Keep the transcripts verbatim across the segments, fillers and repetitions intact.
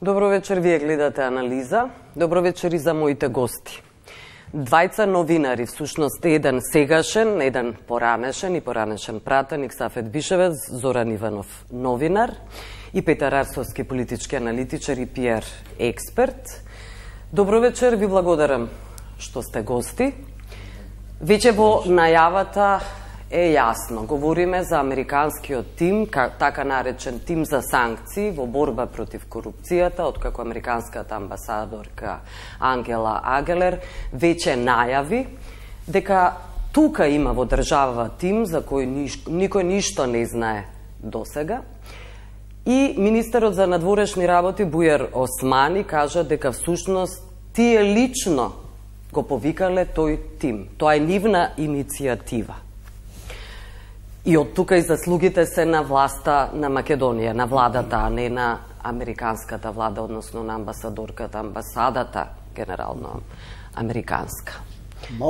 Добро вечер, вие гледате Анализа. Добро вечер и за моите гости. Двајца новинари, всушност еден сегашен, еден поранешен и поранешен пратеник Сафет Бишевец, Зоран Иванов, новинар, и Петар Арсовски, политички аналитичар и пиар експерт. Добро вечер, ви благодарам што сте гости. Веќе во најавата е јасно. Говориме за американскиот тим, така наречен тим за санкции во борба против корупцијата, откако американската амбасадорка Ангела Агелер веќе најави дека тука има во држава тим за кој ниш, никој ништо не знае досега. И министерот за надворешни работи Бујар Османи кажа дека всушност тие лично го повикале тој тим. Тоа е нивна иницијатива. И од тука и заслугите се на власта на Македонија, на владата, а не на американската влада, односно на амбасадорката, амбасадата генерално американска.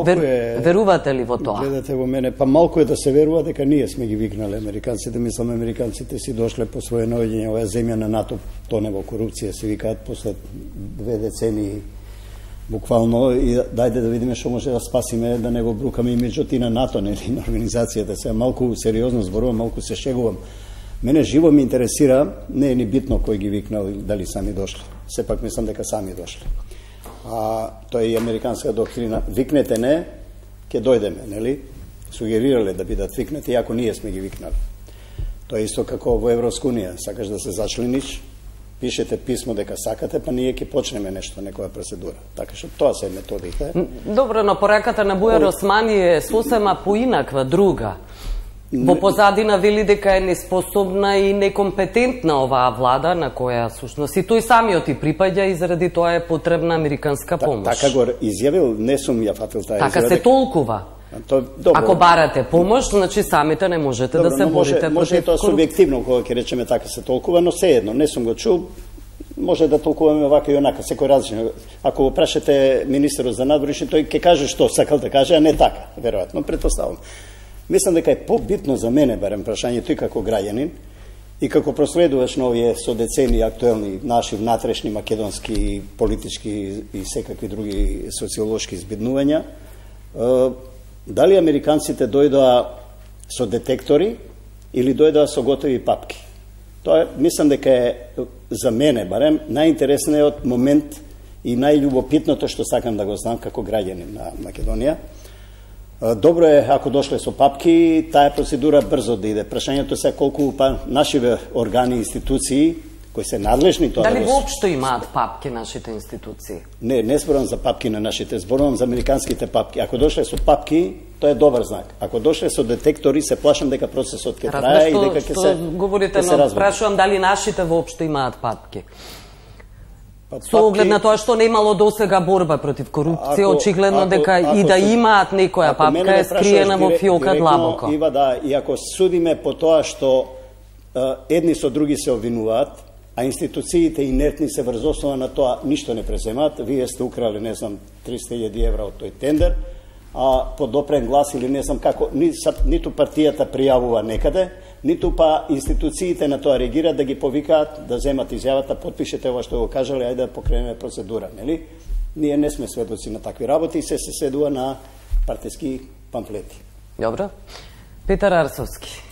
Вер, е, верувате ли во тоа? Гледате во мене, па малку е да се верува дека ние сме ги викнале американците. Мислам, американците си дошле по своје наоѓање оваа земја на НАТО, тоне во корупција, се викаат, после две децении буквално, и дајде да видиме што може да спасиме, да не го брукаме имиджот и на НАТО, не и на организацијата. Сега малку сериозно зборувам, малку се шегувам. Мене живо ми интересира, не е ни битно кој ги викнал, дали сами дошле. Сепак мислам дека сами дошле. А тоа е и американска доктрина. Викнете не, ќе дојдеме, нели? Сугерирале да бидат викнати, иако ние сме ги викнали. Тоа е исто како во Европска унија. Сакаш да се зачлениш, пишете писмо дека сакате, па ние ќе почнеме нешто, некоја процедура. Така што тоа се методите. Добро, но пораката на Бујар Османи е сосема поинаква, друга. Во позадина вели дека е неспособна и некомпетентна оваа влада, на која сушност и тој самиот и припаѓа, и заради тоа е потребна американска помош. Така го изјавил, не сум ја фатил таа изјава. Така се толкува. То, Ако барате помош, значи самите не можете добро, да се борите може, против може и тоа субјективно, кога ќе речеме така се толкува, но сеедно, не сум го чул, може да толкуваме вака и онака, секој различно. Ако го прашате министерот за надворешни, тој ќе каже што сакал да каже, а не така, веројатно, претпоставам. Мислам дека е побитно за мене, барем прашањето, и како граѓанин, и како проследуваш на овие со децени актуелни наши внатрешни македонски, политички и секакви други социолошки избиднувања, дали американците дојдоа со детектори или дојдоа со готови папки? Тоа мислам дека е за мене барем најинтересниот момент и најљубопитното што сакам да го знам како граѓанин на Македонија. Добро е ако дошле со папки, таа процедура брзо да иде. Прашањето се колку па нашиве органи и институции кои се надлежни тоа. Дали воопшто имаат папки нашите институции? Не, не зборувам за папки на нашите, зборувам за американските папки. Ако дошле со папки, тоа е добар знак. Ако дошле со детектори, се плашам дека процесот ќе трае и дека ќе се говорите, но прашувам дали нашите воопшто имаат папки. Со оглед на тоа што не имало досега борба против корупција, ако, очигледно ако, дека ако, и да имаат некоја папка е скриена во фиока длабоко. Ива да, и ако судиме по тоа што е, едни со други се обвинуваат, а институциите инертни се врз основа на тоа ништо не преземаат, вие сте украли, не знам, триста илјади евра од тој тендер, а подопрен глас или не знам како, ни, ниту партијата пријавува некаде, ниту па институциите на тоа реагираат да ги повикаат, да земат изјавата, потпишете ова што го кажале, ајде да покренеме процедура, нели? Ние не сме сведоци на такви работи и се се седува на партиски памфлети. Добро. Петар Арсовски,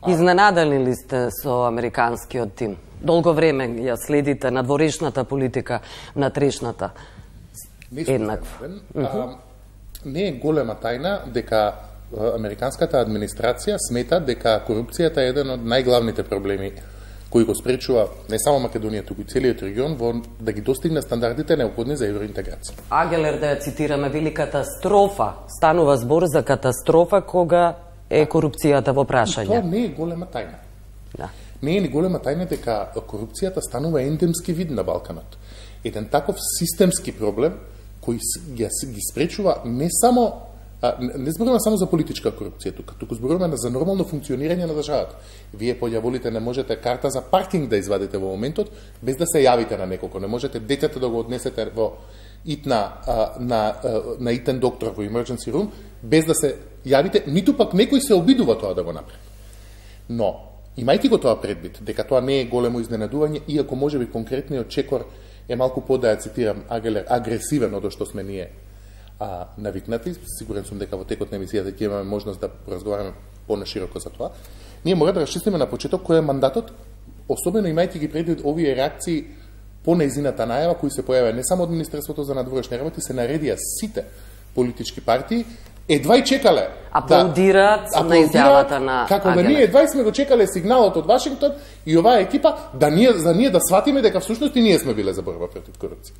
изненадани ли сте со американскиот тим? Долго време ја следите надворешната политика на трешната еднакво. Не е голема тајна дека американската администрација смета дека корупцијата е еден од најглавните проблеми кои го спречува не само Македонија, туку и целиот регион во да ги достигне стандардите неопходни за евроинтеграција. Агелер, да ја цитираме, вели катастрофа, станува збор за катастрофа кога е корупцијата во прашање. Тоа не е голема тајна. Да. Не е ни голема тајна дека корупцијата станува ендемски вид на Балканот. Еден таков системски проблем кој ги, ги спречува не само А, не зборуваме само за политичка корупција тука, туку зборуваме за нормално функционирање на државата. Вие појаволите не можете карта за паркинг да извадите во моментот без да се јавите на неколку. Не можете детето да го однесете во итна а, на на итен доктор во emergency room без да се јавите, ниту пак некој се обидува тоа да го направи. Но Имајќи го тоа предвид, дека тоа не е големо изненадување, иако можеби конкретниот чекор е малку по, да ја цитирам, агресивен од што сме ние а, навикнати. Сигурен сум дека во текот на емисијата ќе имаме можност да поразговараме понашироко за тоа. Ние мора да расчистиме на почеток кој е мандатот, особено имајќи ги предвид овие реакции по нејзината најава кои се појавија не само од Министерството за надворешни работи, се наредија сите политички партии, едва и чекале аплаудираат да, на изјавата на како да ние едва и сме го чекале сигналот од Вашингтон и оваа екипа да ние за ние да сватиме дека всушност и ние сме биле за борба против корупција.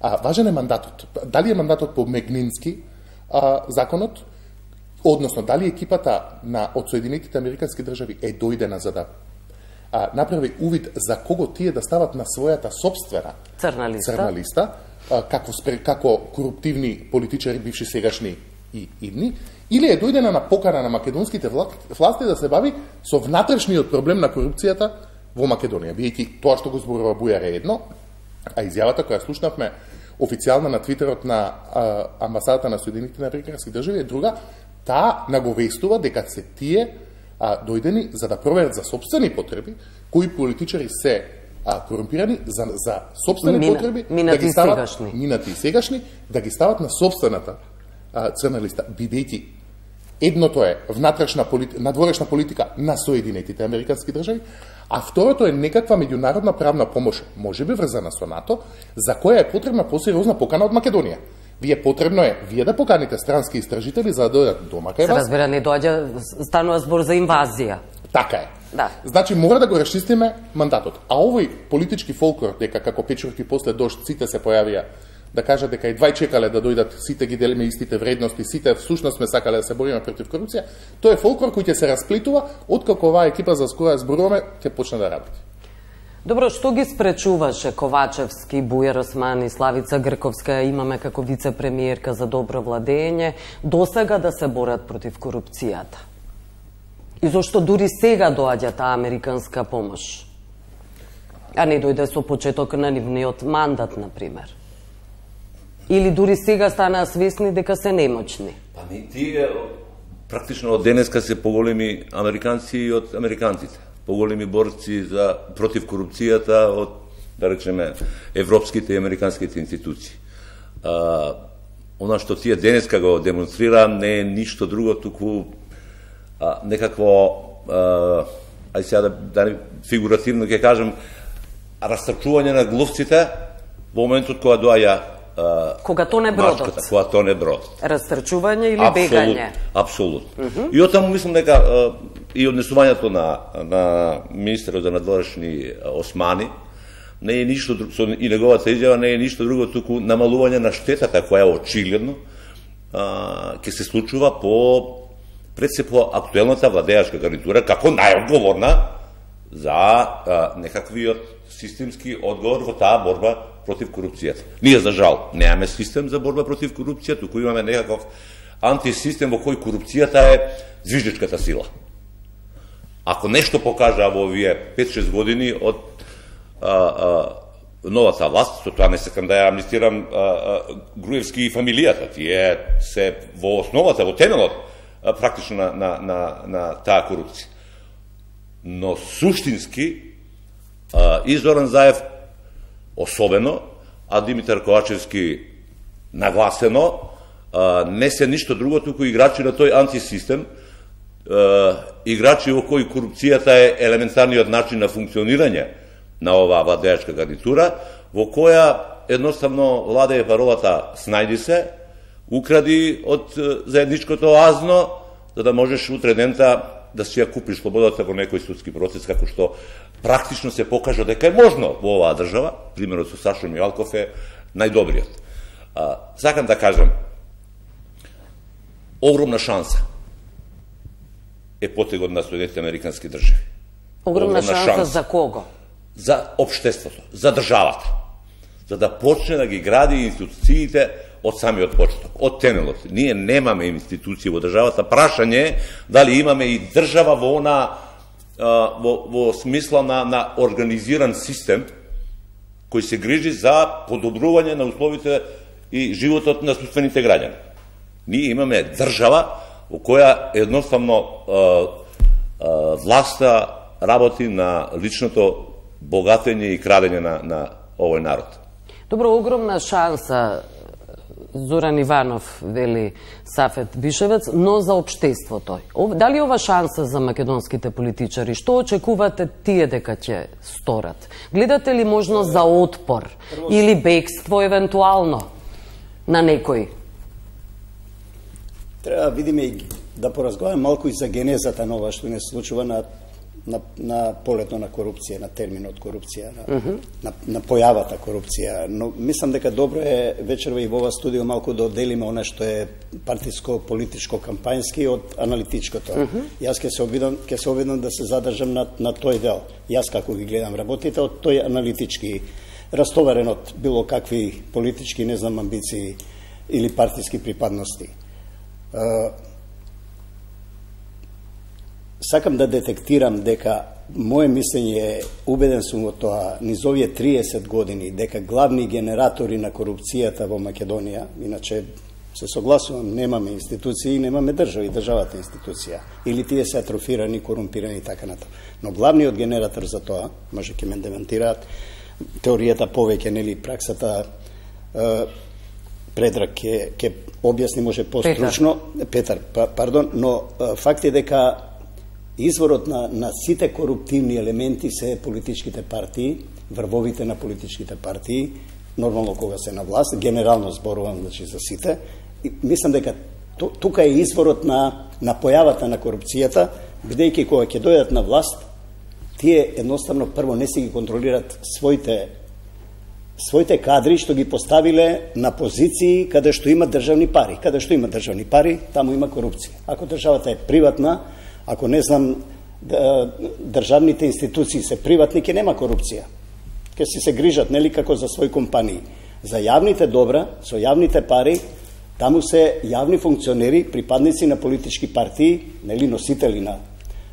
А важен е мандатот. Дали е мандатот по Мегнински а, законот, односно дали екипата на од Соединетите Американски држави е дојдена за да а, направи увид за кого тие да стават на својата собствена црна листа, црна листа а, како спре, како коруптивни политичари бивши сегашни и идни, или е дојдена на покана на македонските власти да се бави со внатрешниот проблем на корупцијата во Македонија. Биејќи тоа што го зборува Бујар е едно, а изјавата која слушнавме официјална на твитерот на а, амбасадата на Соединетите Американски држави е друга, таа наговестува дека се тие а, дојдени за да проверат за собствени потреби кои политичари се а, корумпирани за, за собствени Мина, потреби да ги стават сегашни. минати и сегашни да ги стават на собствената а, црна листа, бидејќи едното е внатрешна полит... надворешна политика на Соединетите Американски држави, а второто е некаква меѓународна правна помош, можеби врзана со НАТО, за која е потребна посериозна покана од Македонија. Вие потребно е вие да поканите странски истражители за да дојдат дома кај вас. Разбира, не доаѓа, станува збор за инвазија. Така е. Да. Значи мора да го расчистиме мандатот. А овој политички фолклор дека како печурки после дожд сите се појавија да кажат дека и двај чекале да дојдат, сите ги делиме истите вредности, сите всушност сме сакале да се бориме против корупција, тоа е фолклор кој ќе се расплитува откако оваа екипа за која зборуваме ќе почне да работи. Добро, што ги спречуваше Ковачевски, Бујар Османи, Славица Грковска, имаме како вице-премиерка за добро владење, досега да се борат против корупцијата? И зошто дури сега доаѓа таа американска помош? А не дојде со почеток на нивниот мандат, например? Или дури сега станаа свесни дека се немочни? Па не, тие практично од денеска се поголеми американци и од американците. Поголеми борци за против корупцијата од, да речеме, европските и американските институции. А, она што тие денеска го демонстрира не е ништо друго, туку а, некакво, а, ај сега да, да фигуративно ќе кажем, растрчување на глувците во моментот кога доаѓа Uh, кога тоне бродот. Машката, кога тоне бродот. Растрчување или Абсолют, бегање? Апсолутно. Mm -hmm. И оттаму мислам дека uh, и однесувањето на, на министерот за надворешни Османи не е ништо друго, и неговата изјава не е ништо друго, туку намалување на штетата која е очигледно uh, ќе се случува по пред се по актуелната владеачка гарнитура како најодговорна за uh, некаквиот системски одговор во таа борба против корупцијата. Ние, за жал, немаме систем за борба против корупција, туку имаме некаков антисистем во кој корупцијата е движечката сила. Ако нешто покажа во овие пет-шест години од а, а, новата власт, со тоа не сакам да ја амнистирам а, а, Груевски и фамилијата, тие се во основата, во темелот, а, практично на, на, на, на таа корупција. Но суштински а, и Зоран Заев особено, а Димитар Ковачевски нагласено, а, не се ништо друго, туку играчи на тој антисистем, а, играчи во кои корупцијата е елементарниот начин на функционирање на оваа владеачка гарнитура, во која едноставно владее паролата "снајди се", укради од заедничкото азно, за да можеш утре дента да си ја купиш слободата во некој судски процес, како што практично се покажа дека е можно во оваа држава. Примерот со Сашо Мијалков е најдобриот. А, сакам да кажам, огромна шанса е потегот на Соединетите Американски држави. Огромна, огромна шанса, шанса за кого? За општеството, за државата. За да почне да ги гради институциите од самиот почеток, од темелот. Ние немаме институции во државата. Прашање е дали имаме и држава во она Во, во смисла на, на организиран систем кој се грижи за подобрување на условите и животот на собствените граѓани. Ние имаме држава во која едноставно а, а, власта работи на личното богатење и крадење на, на овој народ. Добро, огромна шанса, Зоран Иванов, вели Сафет Бишевец, но за општеството. Дали ова шанса за македонските политичари? Што очекувате тие дека ќе сторат? Гледате ли можност за отпор или бегство евентуално на некој? Треба да видиме и да поразговараме малку и за генезата на ова што не случува на на на полето на корупција, на терминот корупција, на, uh -huh. на, на појавата корупција. Но мислам дека добро е вечерва и во ова студио малку да одделиме она што е партиско, политичко, кампањски од аналитичкото. Uh -huh. Јас ќе се обидам, ќе се обидам да се задржам на на тој дел. Јас како ги гледам работите од тој аналитички, растоварен од било какви политички, не знам, амбиции или партиски припадности. Uh, Сакам да детектирам дека моје мислење е, убеден сум во тоа, низ овие триесет години, дека главни генератори на корупцијата во Македонија, иначе се согласувам, немаме институции, немаме држава и државата институција, или тие се атрофирани, корумпирани и така натаму. Но главниот генератор за тоа, може ќе ме демантираат, теоријата повеќе, нели, праксата, е, Предраг ќе ќе објасни може постручно, Петар, Петар па, пардон, но е, факт е дека изворот на, на сите коруптивни елементи се политичките партии, врвовите на политичките партии, нормално кога се на власт, генерално зборувам, значи за сите. И мислам дека тука е изворот на, на појавата на корупцијата, бидејќи кога ќе дојдат на власт, тие едноставно прво не си ги контролират своите своите кадри што ги поставиле на позиции каде што има државни пари. Каде што има државни пари, таму има корупција. Ако државата е приватна, ако не знам, државните институции се приватни, ќе нема корупција. Ќе си се грижат, нели, како за своји компании. За јавните добра, со јавните пари, таму се јавни функционери, припадници на политички партии, нели, носители на,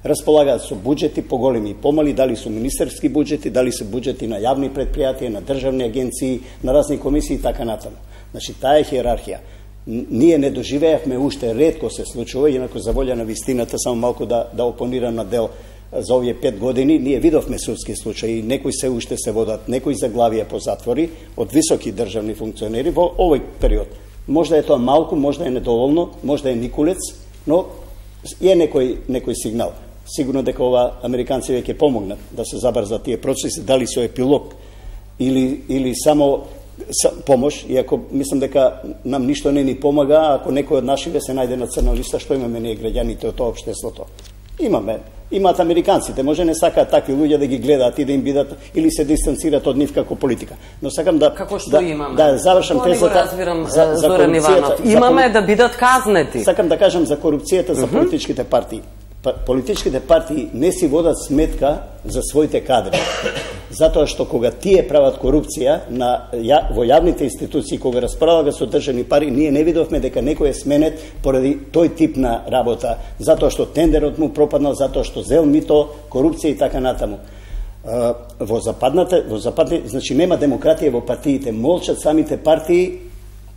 располагаат со буџети поголеми и помали, дали се министерски буџети, дали се буџети на јавни предпријатија, на државни агенции, на разни комисии и така натаму. Значи, таа е хиерархија. Ние не доживеевме уште, ретко се случува, инако за волја на вистината, само малку да, да опонирам на дел за овие пет години, ние видовме судски случаи, некои се уште се водат, некои заглавија по затвори од високи државни функционери во овој период. Можда е тоа малку, можда е недоволно, можда е никулец, но е некој, некој сигнал. Сигурно дека ова американци веќе помогнат да се забрзат тие процеси, дали со епилог или, или само помош, иако мислам дека нам ништо не ни помага ако некој од нашиве се најде на црна листа, што имаме ние граѓаните од тоа општеството. Имаме, имаат американците, може не сакаат такви луѓе да ги гледаат и да им бидат или се дистанцираат од нив како политика. Но сакам да како што да, имаме. Да завршам тоа тезата. разбирам, за, за Зоран Иванов. Имаме за, да бидат казнети. Сакам да кажам за корупцијата за uh -huh. политичките партии. Политичките партии не си водат сметка за своите кадри. Затоа што кога тие прават корупција на, ја, во јавните институции, кога располага со државни пари, ние не видовме дека некој е сменет поради тој тип на работа, затоа што тендерот му пропаднал, затоа што зел мито, корупција и така натаму. Во западната, во западни, значи нема демократија во партиите, молчат самите партии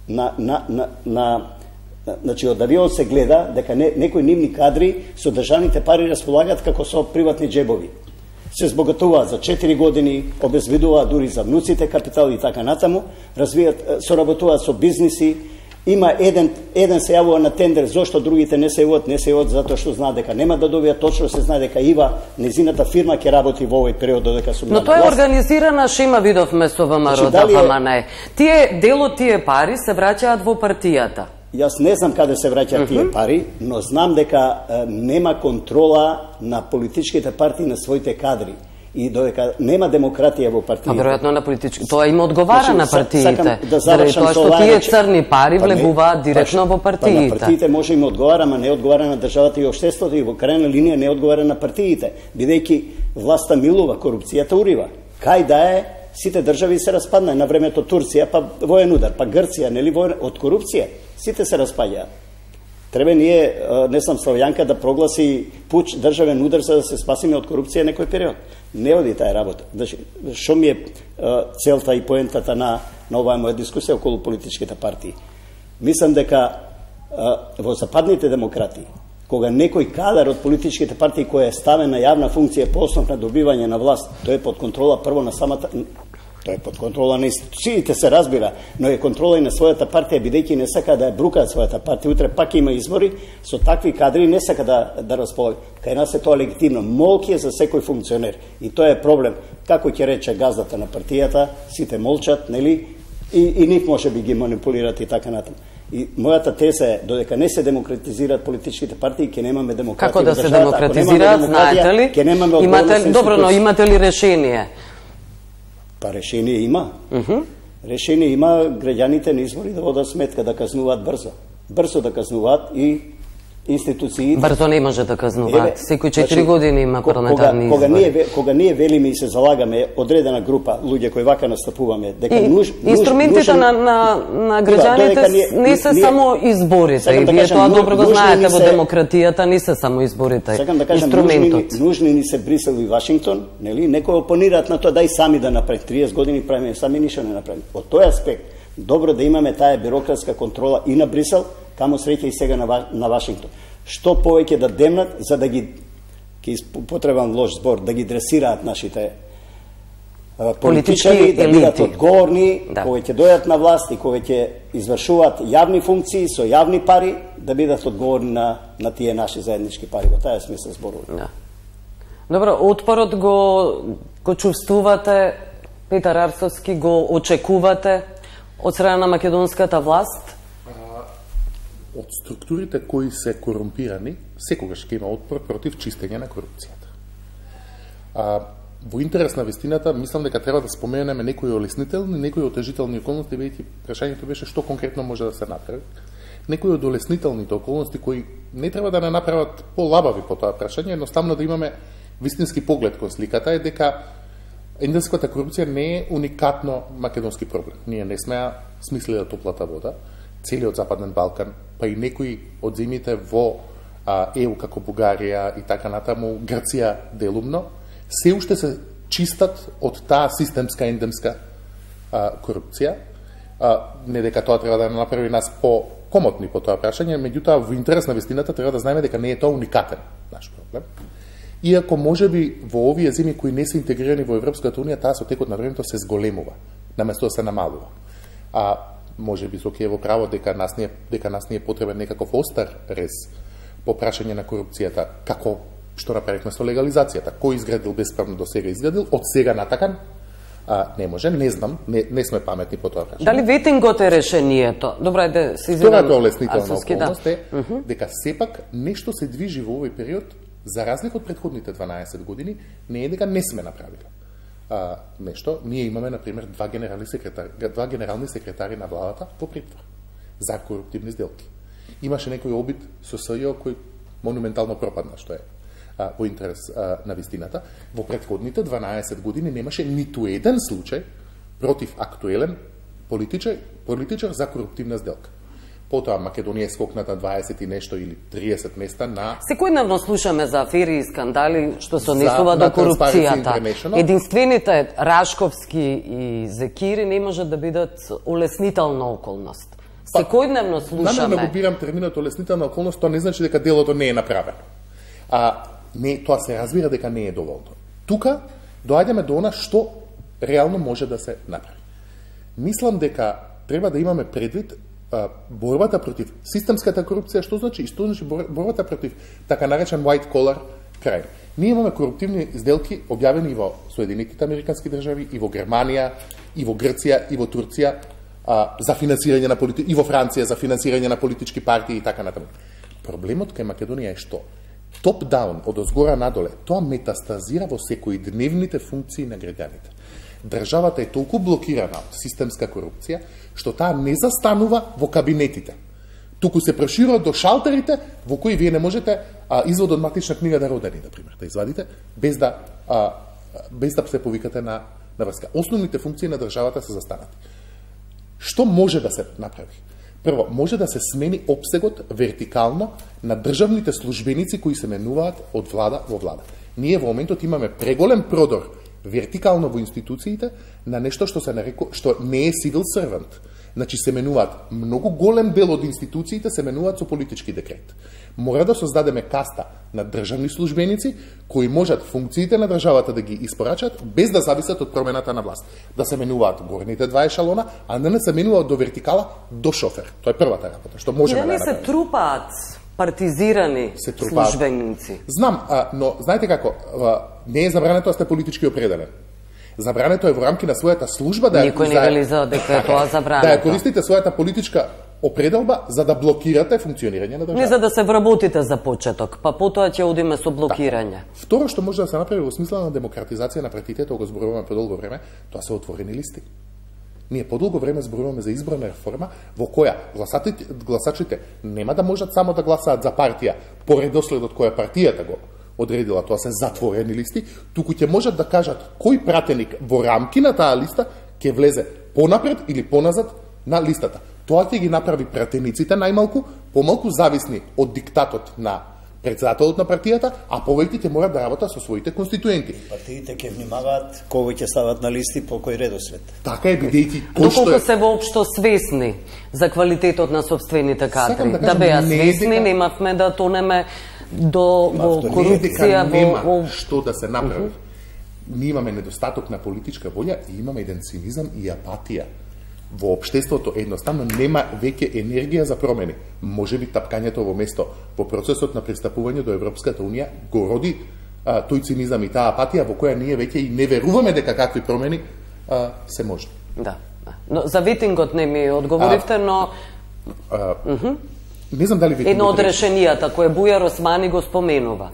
на на на, на значи од авион се гледа дека не, некои нивни кадри со државните пари располагаат како со приватни джебови. Се збогатуваат за четири години, обезбедуваат дури за внуците капитал и така натаму, развијат, соработуваат со бизниси. Има еден еден се јавува на тендер, зошто другите не се јавуваат, не се јавуваат затоа што знаат дека нема да добијат, точно се знае дека Ива, незината фирма ќе работи во овој период додека сум на власт. Но тоа е организирана шема, видовме со ВМРО, да, па не. Тие дел од тие пари се враќаат во партијата. Јас не знам каде се враќаат uh -huh. тие пари, но знам дека е, нема контрола на политичките партии на своите кадри и додека нема демократија во партиите. А веројатно на политички, тоа им одговара значи, на партиите. Да заради тоа што тие црни пари влегуваат директно во партиите. Па на партиите може им одговара, ама не одговара на државата и општеството и во крајна линија не одговара на партиите, бидејќи власта милува, корупцијата урива. Кај да е, сите држави се распадна на времето Турција, па воен удар, па Грција, нели воен од корупција. Сите се распаѓаат. Треба ние, не знам, Славјанка да прогласи пуч, државен удар за да се спасиме од корупција некој период. Не оди таа работа. Значи, што ми е целта и поентата на, на оваа моја дискусија околу политичките партии? Мислам дека во западните демократии кога некој кадар од политичките партии кој е ставен на јавна функција по основ на добивање на власт, тој е под контрола прво на самата, тој е под контрола на институциите, се разбира, но е контрола и на својата партија, бидејќи не сака да ја брукаат својата партија, утре пак има избори, со такви кадри не сака да, да располага. Кај нас е тоа легитимно. Молки е за секој функционер. И тоа е проблем. Како ќе рече газдата на партијата, сите молчат, нели? И, и нив може би ги манипулират и така натаму. И мојата теза е, додека не се демократизираат политичките партии, ќе немаме демократија. Како да се демократизираат, знаете ли? Ќе немаме имате, добро, но имате ли решение? Па решение има. Uh -huh. Решение има граѓаните на избори да водат сметка, да казнуваат брзо. Брзо да казнуваат и институциите. Брзо не може да казнуваат. Секој четири значи, години има парламентарни кога, избори. Кога ние, кога ние велиме и се залагаме одредена група луѓе кои вака настапуваме, дека и, нуж, инструментите нужен, на, на, на граѓаните да, ние, не се ние, само изборите. И да вие кажем, тоа добро го знаете се, во демократијата, не се само изборите. Сакам да кажам, инструментот. Нужни, нужни ни се Брисел и Вашингтон, нели? Некои опонираат на тоа, дај сами да направи. триесет години правиме, сами ништо не направи. Од тој аспект, добро да имаме таа бюрократска контрола и на Брисел, камо среќа и сега на, на Вашингтон. Што повеќе да демнат, за да ги, ке потребам лош збор, да ги дресираат нашите а, политичари, да бидат одговорни, да. Кои ќе дојат на власт и кои ќе извршуваат јавни функции со јавни пари, да бидат одговорни на, на тие наши заеднички пари. Во тај смисла зборувам. Да. Добро, отпорот го, го чувствувате, Петар Арцовски, го очекувате од страна на македонската власт? Од структурите кои се корумпирани, секогаш ќе има отпор против чистење на корупцијата. А, во интерес на вистината, мислам дека треба да споменеме некои олеснителни, некои отежителни околности, бидејќи прашањето беше што конкретно може да се направи. Некои од олеснителните околности кои не треба да не направат полабави по тоа прашање, едноставно да имаме вистински поглед кон сликата е дека ендемската корупција не е уникатно македонски проблем. Ние не сме смислили топлата вода, целиот Западен Балкан, па и некои од земјите во а, Е У како Бугарија и така натаму, Грција делумно, се уште се чистат од таа системска ендемска а, корупција. А, не дека тоа треба да направи нас по-комотни по тоа прашање, меѓутоа во интерес на вистината треба да знаеме дека не е тоа уникатен наш проблем. Иако можеби во овие земји кои не се интегрирани во Европската унија, таа со текот на времето се зголемува, наместо да се намалува. А може би Соки е во право дека нас не дека нас не е потребен некаков остар рез по прашање на корупцијата, како што направивме со легализацијата. Кој изградил бесправно до сега изградил, од сега натакан а, не може, не знам, не, не сме паметни по тоа прашање. Дали ветингот е решението? Добро е да се извинам. Втората олеснителна околност е uh -huh. дека сепак нешто се движи во овој период, за разлика од претходните дванаесет години, не е дека не сме направили а, нешто. Ние имаме, например, два генерални секретари, два генерални секретари на владата во притвор за коруптивни сделки. Имаше некој обид со СЈО кој монументално пропадна, што е а, во интерес а, на вистината. Во претходните дванаесет години немаше ниту еден случај против актуелен политичар, политичар за коруптивна сделка. Потоа Македонија е скокната дваесет и нешто или триесет места на... Секојдневно слушаме за афери и скандали што се однесува до корупцијата. Единствените Рашковски и Зекири не можат да бидат олеснителна околност. Секојдневно слушаме... Намерно го бирам терминот олеснителна околност, тоа не значи дека делото не е направено. А, не, тоа се разбира дека не е доволно. Тука доаѓаме до она што реално може да се направи. Мислам дека треба да имаме предвид борбата против системската корупција, што значи? Што значи борбата против така наречен white collar crime? Ние имаме коруптивни сделки објавени во Соединетите американски држави, и во Германија, и во Грција, и во Турција, а, за финансирање на полити... и во Франција за финансирање на политички партии и така натаму. Проблемот кај Македонија е што? Топ-даун, од озгора надоле, тоа метастазира во секојдневните функции на граѓаните. Државата е толку блокирана од системска корупција, што таа не застанува во кабинетите. Туку се проширува до шалтерите во кои вие не можете а, извод од матична книга да родени, например, да извадите, без да, а, без да се повикате на, на врска. Основните функции на државата се застанати. Што може да се направи? Прво, може да се смени опсегот вертикално на државните службеници кои се менуваат од влада во влада. Ние во моментот имаме преголем продор вертикално во институциите на нешто што се нареку, што не е civil servant. Значи се менуваат многу голем дел од институциите се менуваат со политички декрет. Мора да создадеме каста на државни службеници кои можат функциите на државата да ги испорачат без да зависат од промената на власт. Да се менуваат горните два ешалона, а не да се менуваат до вертикала до шофер. Тоа е првата работа што можеме да направиме. направиме. Се трупаат партизирани се трупаат. службеници. Знам, а, но знаете како, а, не е забрането да сте политички определен. Забрането е во рамки на својата служба да Никој не вели за дека е тоа забрането. Да ја користите својата политичка определба за да блокирате функционирање на државата. Не за да се вработите за почеток, па потоа ќе одиме со блокирање. Да. Второ што може да се направи во смисла на демократизација на партиите, тоа го зборуваме подолго време, тоа се отворени листи. Ние подолго време зборуваме за изборна реформа во која гласачите, гласачите нема да можат само да гласаат за партија по редоследот која партијата го одредила, тоа се затворени листи, туку ќе можат да кажат кој пратеник во рамки на таа листа ќе влезе понапред или поназад на листата. Тоа ќе ги направи пратениците најмалку помалку зависни од диктатот на председателот на партијата, а повеќе ќе морат да работат со своите конституенти. Партиите ќе внимаваат кога ќе стават на листи по кој редослед. Така е, бидејќи кој што Доколку е... се воопшто свесни за квалитетот на собствените кадри, да, да беа свесни, немавме да тонеме до во корупција, нема во што да се направи. Ние имаме недостаток на политичка волја и имаме еден цинизам и апатија. Во општеството едноставно нема веќе енергија за промени. Може би тапкањето во место во процесот на пристапување до Европската унија го роди а, тој цинизам и таа апатија во која ние веќе и не веруваме дека какви промени а, се можни. Да. Но за ветингот не ми одговоривте, а, но а, не знам дали ветингот едно од решенијата кое Бујар Османи го споменува.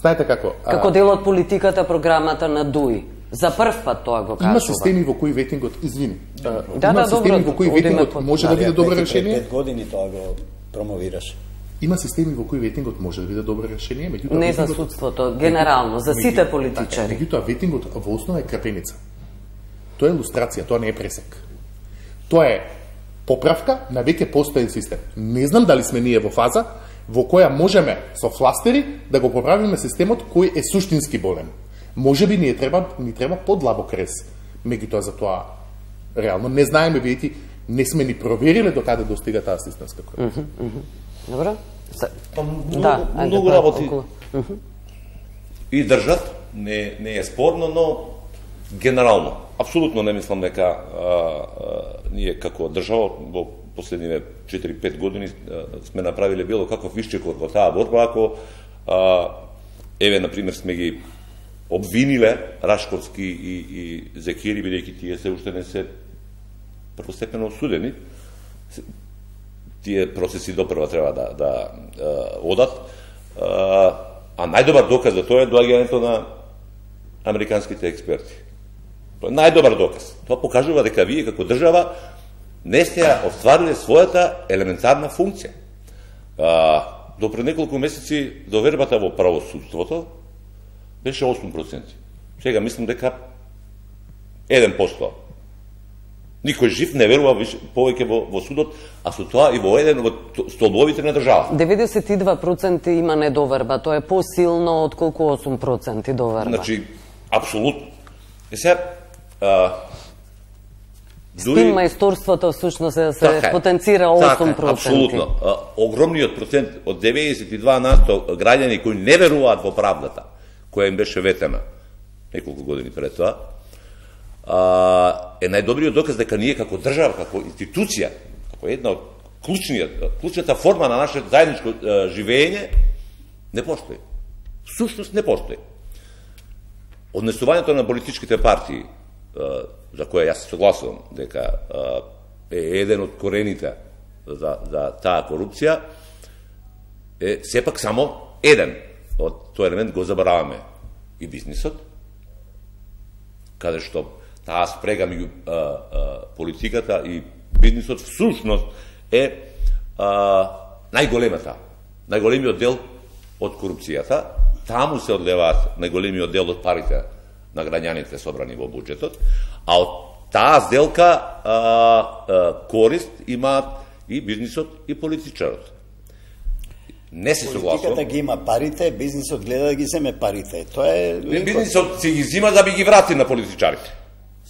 Знаете како? А... Како дел од политиката програмата на Дуи. За прв пат тоа го кажува. Има системи во кои ветингот, извини. Да, има да, системи добро, во кои ветингот може да биде добро решение. Пред пет години тоа го промовираше. Има системи во кои ветингот може да биде добро решение, меѓутоа не за судството, генерално, за сите политичари. Меѓутоа ветингот во основа е крапеница. Тоа е илустрација, тоа не е пресек. Тоа е поправка на веќе постоен систем. Не знам дали сме ние во фаза во која можеме со фластери да го поправиме системот кој е суштински болен. Може би ни треба ни треба подлабок рез. Меѓутоа за тоа реално не знаеме, бидејќи не сме ни провериле до каде достига таа системска корупција. Mm -hmm. Добро? Па, многу, да, многу работи mm -hmm. и држат, не, не е спорно, но генерално, апсолутно не мислам дека а, а, ние како држава во последниве четири-пет години а, сме направиле било каков вишчекор во таа борба, ако а, еве, например, сме ги обвиниле Рашковски и, и Зекири, бидејќи тие се уште не се првостепено осудени. Тие процеси допрва треба да, да а, одат. А, а најдобар доказ за тоа е доаѓањето на американските експерти. Тоа е најдобар доказ. Тоа покажува дека вие како држава не сте оствариле својата елементарна функција. А, до пред неколку месеци довербата во правосудството беше осум проценти. Сега мислам дека еден процент. Никој жив не верува повеќе во, во судот, а со тоа и во еден од столбовите на држава. деветдесет и два проценти има недоверба, тоа е посилно од колку осум проценти доверба. Значи, апсолутно. Е сега, а, дури... Стим мајсторството всушност е да се така потенцира осум проценти. Така, апсолутно. А, огромниот процент од деветдесет и два на сто граѓани кои не веруваат во правдата, која им беше ветена неколку години пред тоа, е најдобриот доказ дека ние како држава, како институција, како една од клучната форма на нашето заедничко живење, не постои. Сушност не постои. Однесувањето на политичките партии, за која јас се согласувам дека е еден од корените за, за таа корупција, е сепак само еден од тој елемент. Го забораваме и бизнисот, каде што таа спрега меѓу политиката и бизнисот всушност е а, најголемата, најголемиот дел од корупцијата. Таму се одлеваат најголемиот дел од парите на граѓаните собрани во буџетот, а од таа сделка а, а, корист имаат и бизнисот и политичарот. Не се согласувам. Политиката ги има парите, бизнисот гледа да ги земе парите. Тоа е... Бизнисот си ги зима да би ги врати на политичарите.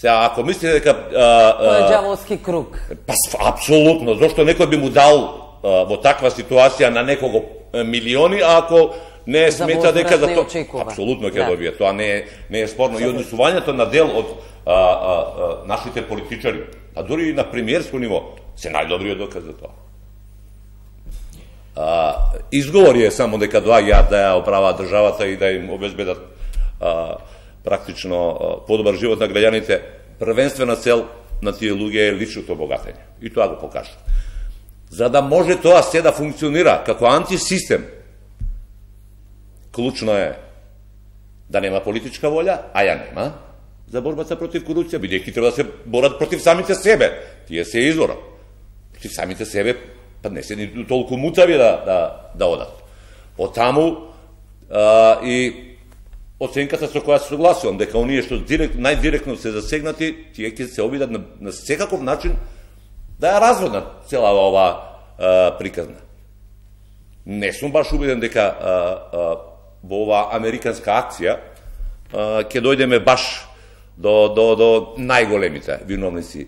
Сега, ако мислите дека... Тоа е ѓаволски круг. Па, апсолутно. Зошто некој би му дал а, во таква ситуација на некого милиони, а ако не смета дека за тоа... Апсолутно ќе да. Добие. Тоа не е, не е спорно. И однесувањето на дел од а, а, а, нашите политичари, а дури и на премиерско ниво, се најдобриот доказ за тоа. А, изговори е само дека доаѓаат да ја оправаат државата и да им обезбедат а, практично подобар живот на граѓаните. Првенствена цел на тие луѓе е личното обогатење. И тоа го покажа. За да може тоа се да функционира како антисистем, клучно е да нема политичка волја, а ја нема, за борбата против корупција, бидејќи треба да се борат против самите себе. Тие се извора. Против самите себе, па не се ни толку мутави да, да, да одат. Од таму а, и оценката со која се согласувам, дека оние што директ, најдиректно се засегнати, тие ќе се обидат на, на секаков начин да ја разводнат цела ова а, приказна. Не сум баш убеден дека а, а, во ова американска акција а, ќе дојдеме баш до, до, до најголемите виновници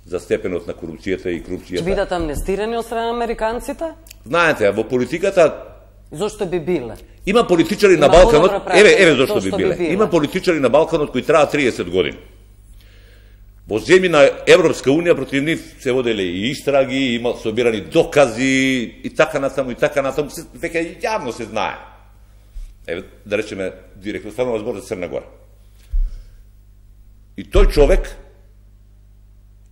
за степенот на корупцијата и корупцијата. Ќе бидат амнестирани од страна американците? Знаете, во политиката... Зошто би биле? Има политичари на Балканот, еве, еве зошто би биле. би биле. Има политичари на Балканот кои траат триесет години. Во земји на Европска унија против нив се воделе и истраги, има собирани докази и така натаму и така натаму, веќе јавно се знае. Еве, да речеме директно станува збор за Црна Гора. И тој човек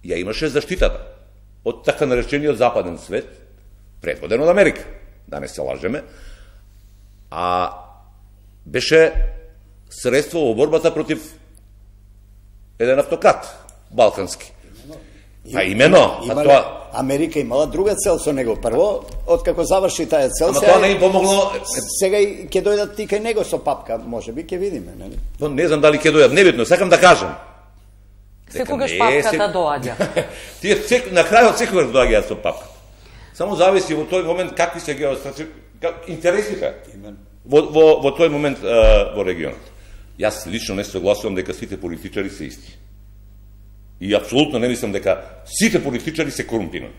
ја имаше заштитата од така наречениот западен свет, предводен од Америка, да не се лажеме, а беше средство во борбата против еден автократ балкански. А имено, има, а тоа Америка имала друга цел со него. Прво, откако заврши таа цел, ама тоа не им помогло. Сега ќе дојдат и кај него со папка, можеби ќе видиме, нели? Но не знам дали ќе дојдат, небитно, сакам да кажам. Секогаш папката доаѓа. Тие сек, на крајот секогаш доаѓаат со папка. Само зависи во тој момент какви се геостратешки интересите во, во, во тој момент а, во регионот. Јас лично не согласувам дека сите политичари се исти. И апсолутно не мислам дека сите политичари се корумпирани.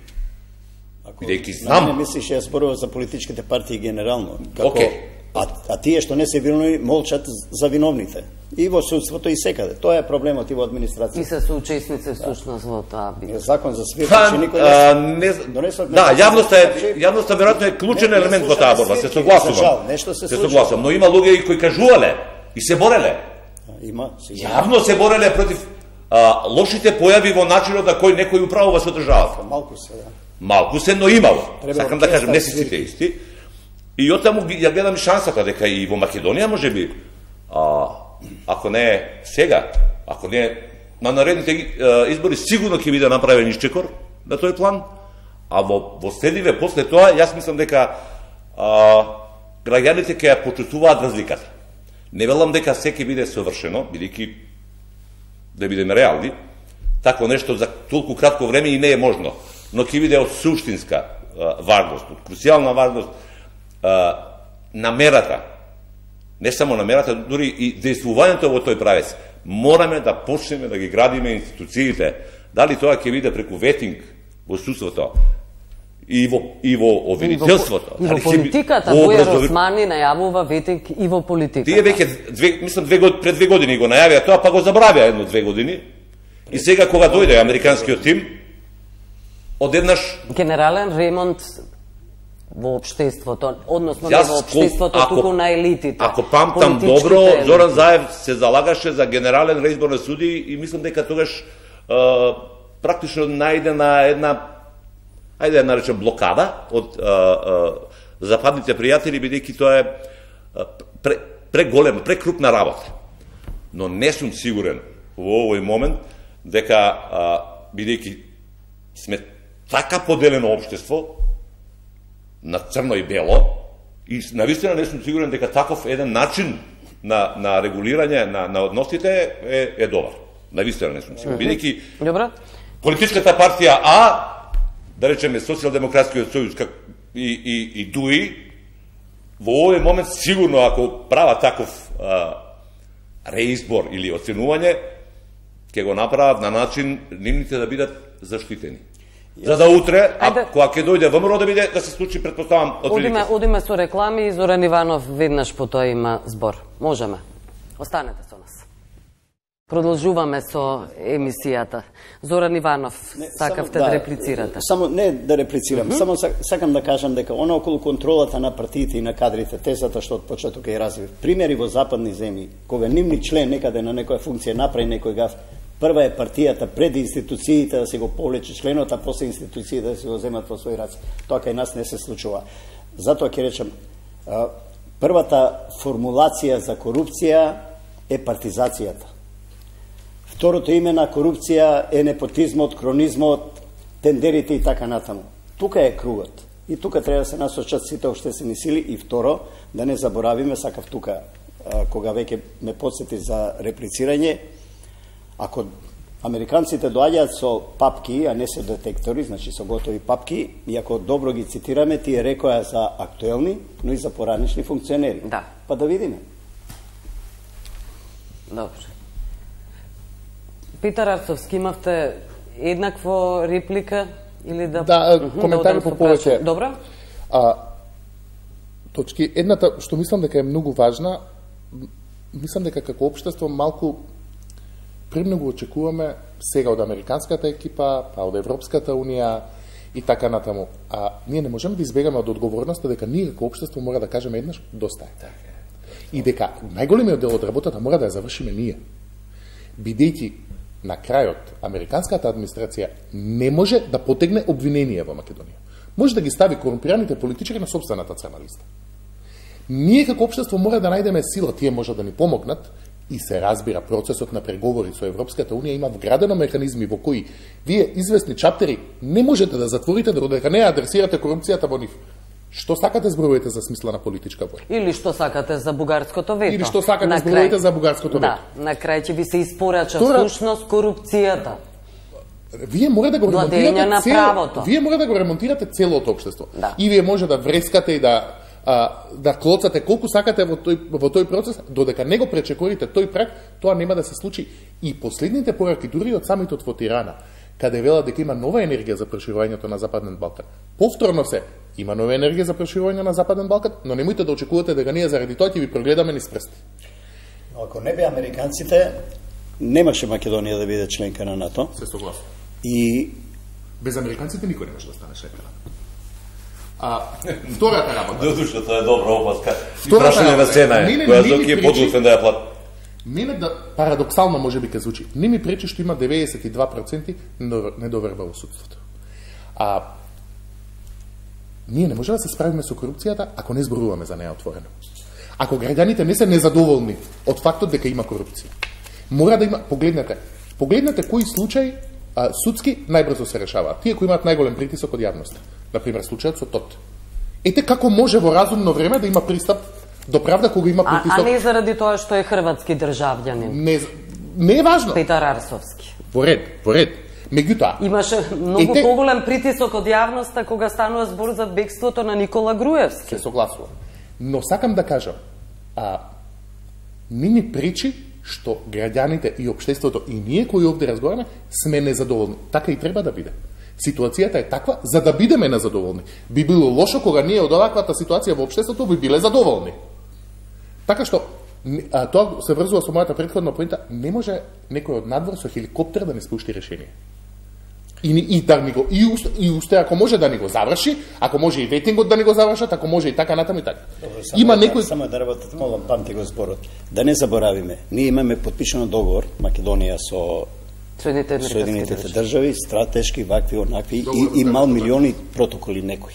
Бидејќи знам... Не мислиш, јас зборувам за политичките партии генерално. Како... Okay. А, а тие што не се виновни молчат за виновните. И во судството и секаде. Тоа е проблемот и во администрација. И се соучесници всушност во тоа битка. Закон за свирки, Па, че никој не донесот. Да, јавноста е јавноста веројатно е клучен елемент во таа борба, се согласувам. Нешто се се согласувам, но има луѓе кои кажувале и се бореле. Има, јавно се бореле против а, лошите појави во начинот на кој некој управува со државата. Малку се, да. Малку се, но имало. Сакам да кажам, не се сите исти. И оттаму ја гледам шансата дека и во Македонија можеби, а, ако не сега, ако не на наредните избори, сигурно ќе биде направен исчекор на тој план, а во, во следиве после тоа, јас мислам дека а, граѓаните ќе ја почувствуваат разликата. Не велам дека се ќе биде совршено, бидејќи да бидеме реални, тако нешто за толку кратко време и не е можно, но ќе биде од суштинска а, важност, од круцијална важност, Uh, намерата, не само намерата, дури и действувањето во тој правец. Мораме да почнеме да ги градиме институциите. Дали тоа ќе биде преку ветинг во судството и во, и во обвинителството. И во, и во политиката, Бојар Османи најавува ветинг и во политиката. Тие веќе, две, мислам, две год, пред две години го најавија тоа, па го забравија едно-две години. И сега кога дојде американскиот тим, одеднаш... Генерален ремонт во општеството, односно не во општеството, ако, туку на елитите. Ако памтам добро, елити. Зоран Заев се залагаше за генерален реизбор на суди и мислам дека тогаш а, практично најде на една, ајде да наречем блокада од а, а, западните пријатели, бидејќи тоа е пре, преголема, прекрупна работа. Но не сум сигурен во овој момент дека, бидејќи сме така поделено општество, на црно и бело, и навистина не сум сигурен дека таков еден начин на, на регулирање на, на односите е, е добар. Навистина не сум сигурен. Бидејќи политичката партија А, да речеме Социјалдемократскиот сојуз и, и, и ДУИ, во овој момент сигурно ако права таков а, реизбор или оценување, ќе го направат на начин нивните да бидат заштитени. За да утре, а кога ќе дојде ВМРО да биде да се случи, претпоставам, Одиме, одиме со реклами и Зоран Иванов веднаш по тоа има збор. Можеме. Останете со нас. Продолжуваме со емисијата. Зоран Иванов, не, сакавте само, да, да реплицирате. Само не да реплицирам, mm -hmm. само сакам да кажам дека она околу контролата на партиите и на кадрите, тезата што од почеток е развив. Примери во западни земји, кога нивни член некаде на некоја функција направи некој гаф, прва е партијата пред институциите да се го повлече членот, а после институциите да се го земат во своји раце. Тоа кај нас не се случува. Затоа ќе речем, првата формулација за корупција е партизацијата. Второто име на корупција е непотизмот, кронизмот, тендерите и така натаму. Тука е кругот. И тука треба да се насочат сите општествени сили. И второ, да не заборавиме, сакав тука, кога веќе ме подсети за реплицирање, ако американците доаѓаат со папки, а не со детектори, значи со готови папки, и ако добро ги цитираме, тие рекоа за актуелни, но и за поранешни функционери. Да. Па да видиме. Добро. Петар Арцовски, имавте еднакво реплика или да... Да, коментари по повеќе. Добро. А, точки. Едната, што мислам дека е многу важна, мислам дека како општество малку премногу очекуваме сега од американската екипа, па од Европската унија и така натаму. А ние не можеме да избегаме од одговорноста дека ние како општество мора да кажеме еднаш доста е. И дека најголемиот дел од работата мора да ја завршиме ние. Бидејќи на крајот американската администрација не може да потегне обвинение во Македонија. Може да ги стави корумпираните политичари на собствената црна листа. Ние како општество мора да најдеме сила, тие може да ни помогнат и се разбира процесот на преговори со Европската унија има вградено механизми во кои вие известни чаптери не можете да затворите додека не адресирате корупцијата во нив. Што сакате зборувате за смисла на политичка војна? Или што сакате за бугарското вето? Или што сакате зборувате за бугарското вето? Да, на крај ќе ви се испорача всушност корупцијата. Вие мора да го ремонтирате на цело, правото. Вие мора да го ремонтирате целото општество. Да. И вие може да врескате и да а, да клоцате колку сакате во тој во тој процес, додека не го пречекорите тој праг, тоа нема да се случи. И последните пораки дури од самитот во Тирана, каде вела дека има нова енергија за проширувањето на Западен Балкан. Повторно се, има нова енергија за проширување на Западен Балкан, но немојте да очекувате дека ние заради тоа ќе ви прогледаме низ прсти. Но ако не бе американците, немаше Македонија да биде членка на НАТО. Се согласувам. И без американците никој не може да стане членка на НАТО. А втората работа. Додуша, тоа е добра опаска. Прашање на цена е, која Зоки е подготвен да ја плати. Мене да парадоксално може би ке звучи. Не ми пречи што има деветдесет и два проценти недоверба во судството. А ние не може да се справиме со корупцијата ако не зборуваме за неа отворено. Ако граѓаните не се незадоволни од фактот дека има корупција, мора да има, погледнете, погледнете кои случаи а, судски најбрзо се решаваат. Тие кои имаат најголем притисок од јавноста. Например, случајот со ТОТ. Ете како може во разумно време да има пристап до правда кога има притисок. А, а не заради тоа што е хрватски државјанин. Не, не е важно. Петар Арцовски. Во ред, во ред. Меѓутоа, имаше многу ете, поголем притисок од јавноста кога станува збор за бегството на Никола Груевски. Се согласувам. Но сакам да кажам, а не ни пречи што граѓаните и општеството и ние кои овде разговараме сме незадоволни. Така и треба да биде. Ситуацијата е таква за да бидеме незадоволни. Би било лошо кога ние од оваквата ситуација во општеството би биле задоволни. Така што а, тоа се врзува со мојата претходна поинта, не може некој од надвор со хеликоптер да не спушти решение. И, и, да ни го, и, усте, и усте, ако може да ни го заврши, ако може и ветингот да ни го завршат, ако може и така натаму и така. Добро, само, Има некој... само да работат, молам, памти го зборот. Да не заборавиме, ние имаме подпишано договор, Македонија со Соединетите држави, стратешки, вакви, онакви, и, и мал милиони протоколи некои.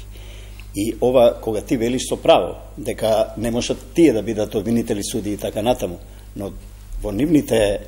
И ова, кога ти велиш со право, дека не можат тие да бидат обвинители, суди и така натаму, но во нивните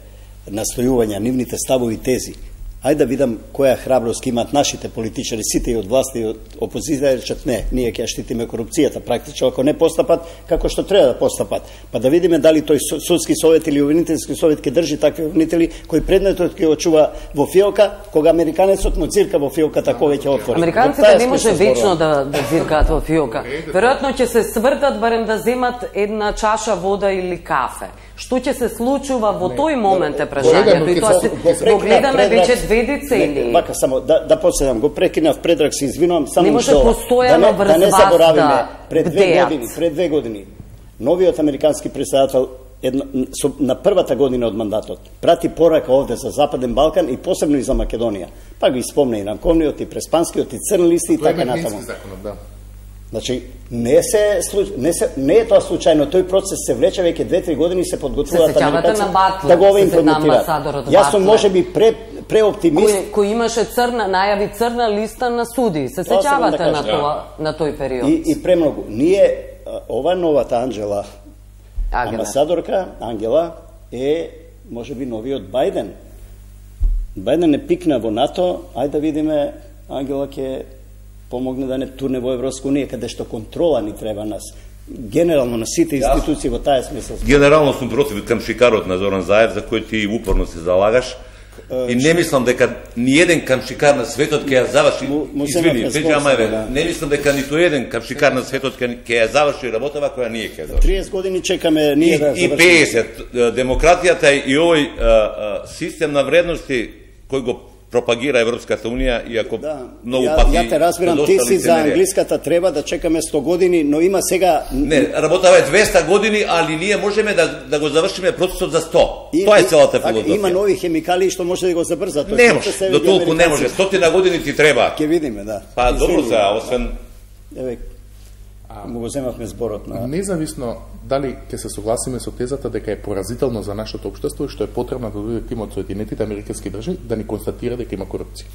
настојувања, нивните ставови тези, Ајде да видам која храброст имаат нашите политичари, сите и од власта и од опозиција, речат не, ние ќе штитиме корупцијата, практично ако не постапат како што треба да постапат. Па да видиме дали тој судски совет или обвинителски совет ќе држи такви обвинители кои предметот ќе очува во фиока, кога американецот му цирка во фиоката кога ќе отвори. Американците не може вечно да да циркаат во фиока. Веројатно ќе се свртат барем да земат една чаша вода или кафе. Што ќе се случува во тој момент е прашањето и тоа се го гледаме веќе две децении. Вака само да да поседам, го прекинав Предраг, се извинувам, само не може што постојано врз да не вас заборавиме да пред две години, пред две години новиот американски претседател една, со, на првата година од мандатот прати порака овде за Западен Балкан и посебно и за Македонија. Па го испомне и Нанковниот, и Преспанскиот, и Црн листи и така натаму. Да. Значи, не се, не се не е тоа случајно, тој процес се влече веќе две-три години, се подготвуваат американци да го имплементираат. Јас сум можеби пре преоптимист. Кој, кој имаше црна, најави црна листа на суди. Се сеќавате да на тоа на тој период. И, и премногу. Ние ова новата Анџела, амбасадорка Ангела е можеби новиот Бајден. Бајден не пикна во НАТО, ајде да видиме Ангела ќе помогне да не турне во Европска унија, каде што контрола ни треба нас. Генерално на сите институции во таа смисла. Генерално сум против камшикарот на Зоран Заев, за кој ти упорно се залагаш. И не мислам дека ни еден камшикар на светот ќе ја заврши. Извини, Пејче Амајве, не мислам дека ниту еден камшикар на светот ќе ја заврши работава која ние ќе заврши. триесет години чекаме ние да завршиме. И пеесет, демократијата и овој систем на вредности кој го пропагира Европската унија, иако да, многу ја, пати... Ја те разбирам, ти си за англиската треба да чекаме сто години, но има сега... Не, работава е двеста години, али ние можеме да, да го завршиме процесот за сто. И, Тоа е целата филозофија. Има нови хемикали што може да го забрзат. Не може, до толку не може. Стотина години ти треба. Ке видиме, да. Па добро сега, освен... Еве, му го земавме зборот на... Независно дали ќе се согласиме со тезата дека е поразително за нашето општество и што е потребно да дојде тимот со Соединетите американски држави да ни констатира дека има корупција.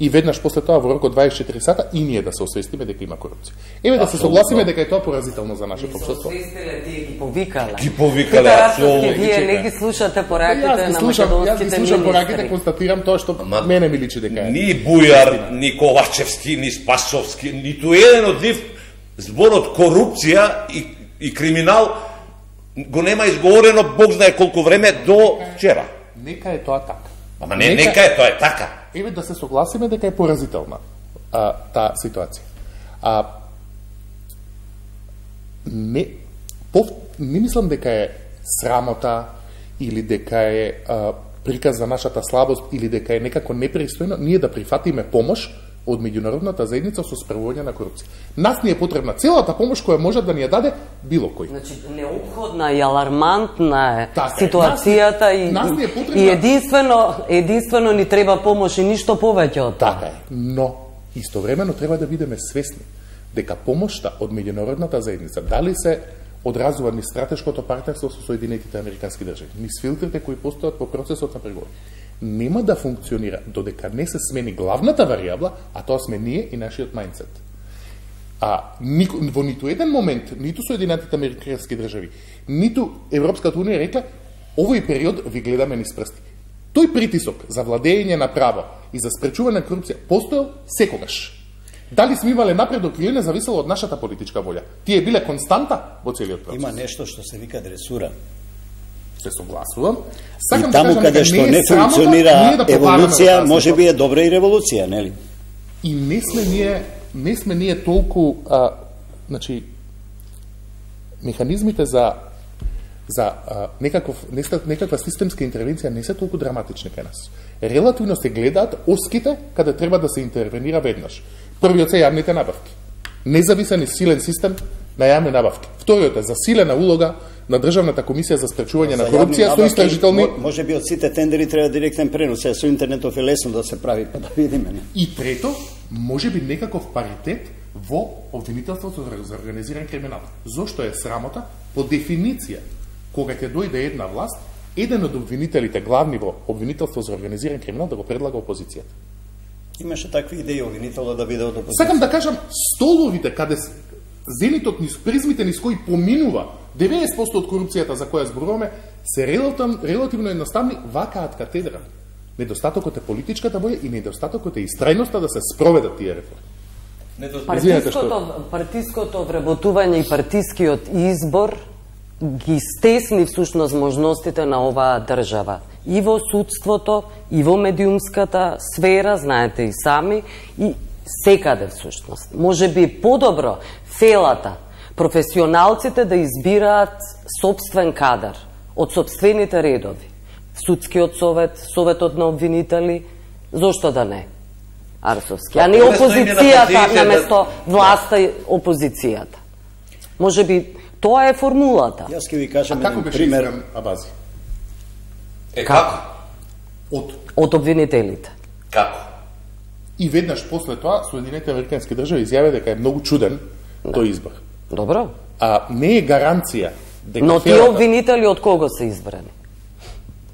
И веднаш после тоа во рок од дваесет и четири сата и ние да се освестиме дека има корупција. Еве да се согласиме дека е тоа поразително за нашето општество. Освестиле тие ги повикале. Ги повикале, апсолутно. Вие не ги слушате пораките на македонските министри. Јас ги слушам пораките, констатирам тоа што мене ми личи дека е. Ни Бујар, ни Ковачевски, ни Спасовски, ниту еден од нив зборот корупција и, и криминал го нема изговорено Бог знае колку време до вчера. Нека е тоа така. Ама не, нека, нека е тоа е така. Еве да се согласиме дека е поразителна а, таа ситуација. А, не, пов, не мислам дека е срамота или дека е а, приказ за нашата слабост или дека е некако непристојно ние да прифатиме помош од меѓународната заедница со спроводување на корупција. Нас ни е потребна целата помош која може да ни ја даде било кој. Значи, необходна и алармантна е така, ситуацијата нас, и, нас ни е потребна... и единствено, единствено ни треба помош и ништо повеќе од тоа. Така е, но истовремено треба да бидеме свесни дека помошта од меѓународната заедница, дали се одразува ни стратешкото партнерство со Соединетите американски држави, низ филтрите кои постојат по процесот на преговори, нема да функционира додека не се смени главната варијабла, а тоа сме ние и нашиот мајндсет. А нико, во ниту еден момент, ниту Соединетите американски држави, ниту Европската унија рекла, овој период ви гледаме низ прсти. Тој притисок за владење на право и за спречување на корупција постоел секогаш. Дали сме имале напредок или не зависело од нашата политичка волја. Тие биле константа во целиот процес. Има нешто што се вика дресура. Се согласувам. Сакам и таму да каде што не функционира да еволуција, може би е добра и револуција, нели? И не сме ние, не сме ние толку, а, значи, механизмите за за а, некаков, некаква системска интервенција не се толку драматични кај нас. Релативно се гледаат оските каде треба да се интервенира веднаш. Првиот се јавните набавки. Независен и силен систем на јавни набавки. Вториот е засилена улога на Државната комисија за спречување на корупција со истражителни... Може би од сите тендери треба директен пренос, со интернетов е лесно да се прави, па да видиме. Не? И трето, може би некаков паритет во обвинителството за организиран криминал. Зошто е срамота? По дефиниција, кога ќе дојде една власт, еден од обвинителите главни во обвинителство за организиран криминал да го предлага опозицијата. Имаше такви идеи обвинителот да биде од опозицијата. Сакам да кажам, столовите каде зенитот низ призмите низ кои поминува деветдесет проценти од корупцијата за која зборуваме, се релативно, релативно едноставни, вакаат катедра. Недостатокот е политичката воја и недостатокот е истрајноста да се спроведат тие реформи. Партиското, партиското вработување и партискиот избор ги стесни всушност можностите на оваа држава. И во судството, и во медиумската сфера, знаете и сами, и секаде всушност. Може би подобро фелата, професионалците да избираат собствен кадар од собствените редови. Судскиот совет, советот на обвинители, зошто да не? Арсовски, а не опозицијата наместо власта и опозицијата. Може би тоа е формулата. Јас ќе ви кажам а како беше пример. избран Абази? Е, како? Од Од обвинителите. Како? И веднаш после тоа Соединетите Американски држави изјавија дека е многу чуден тој избор. Добро. А не е гаранција дека Но тие фелата... обвинители од кого се избрани?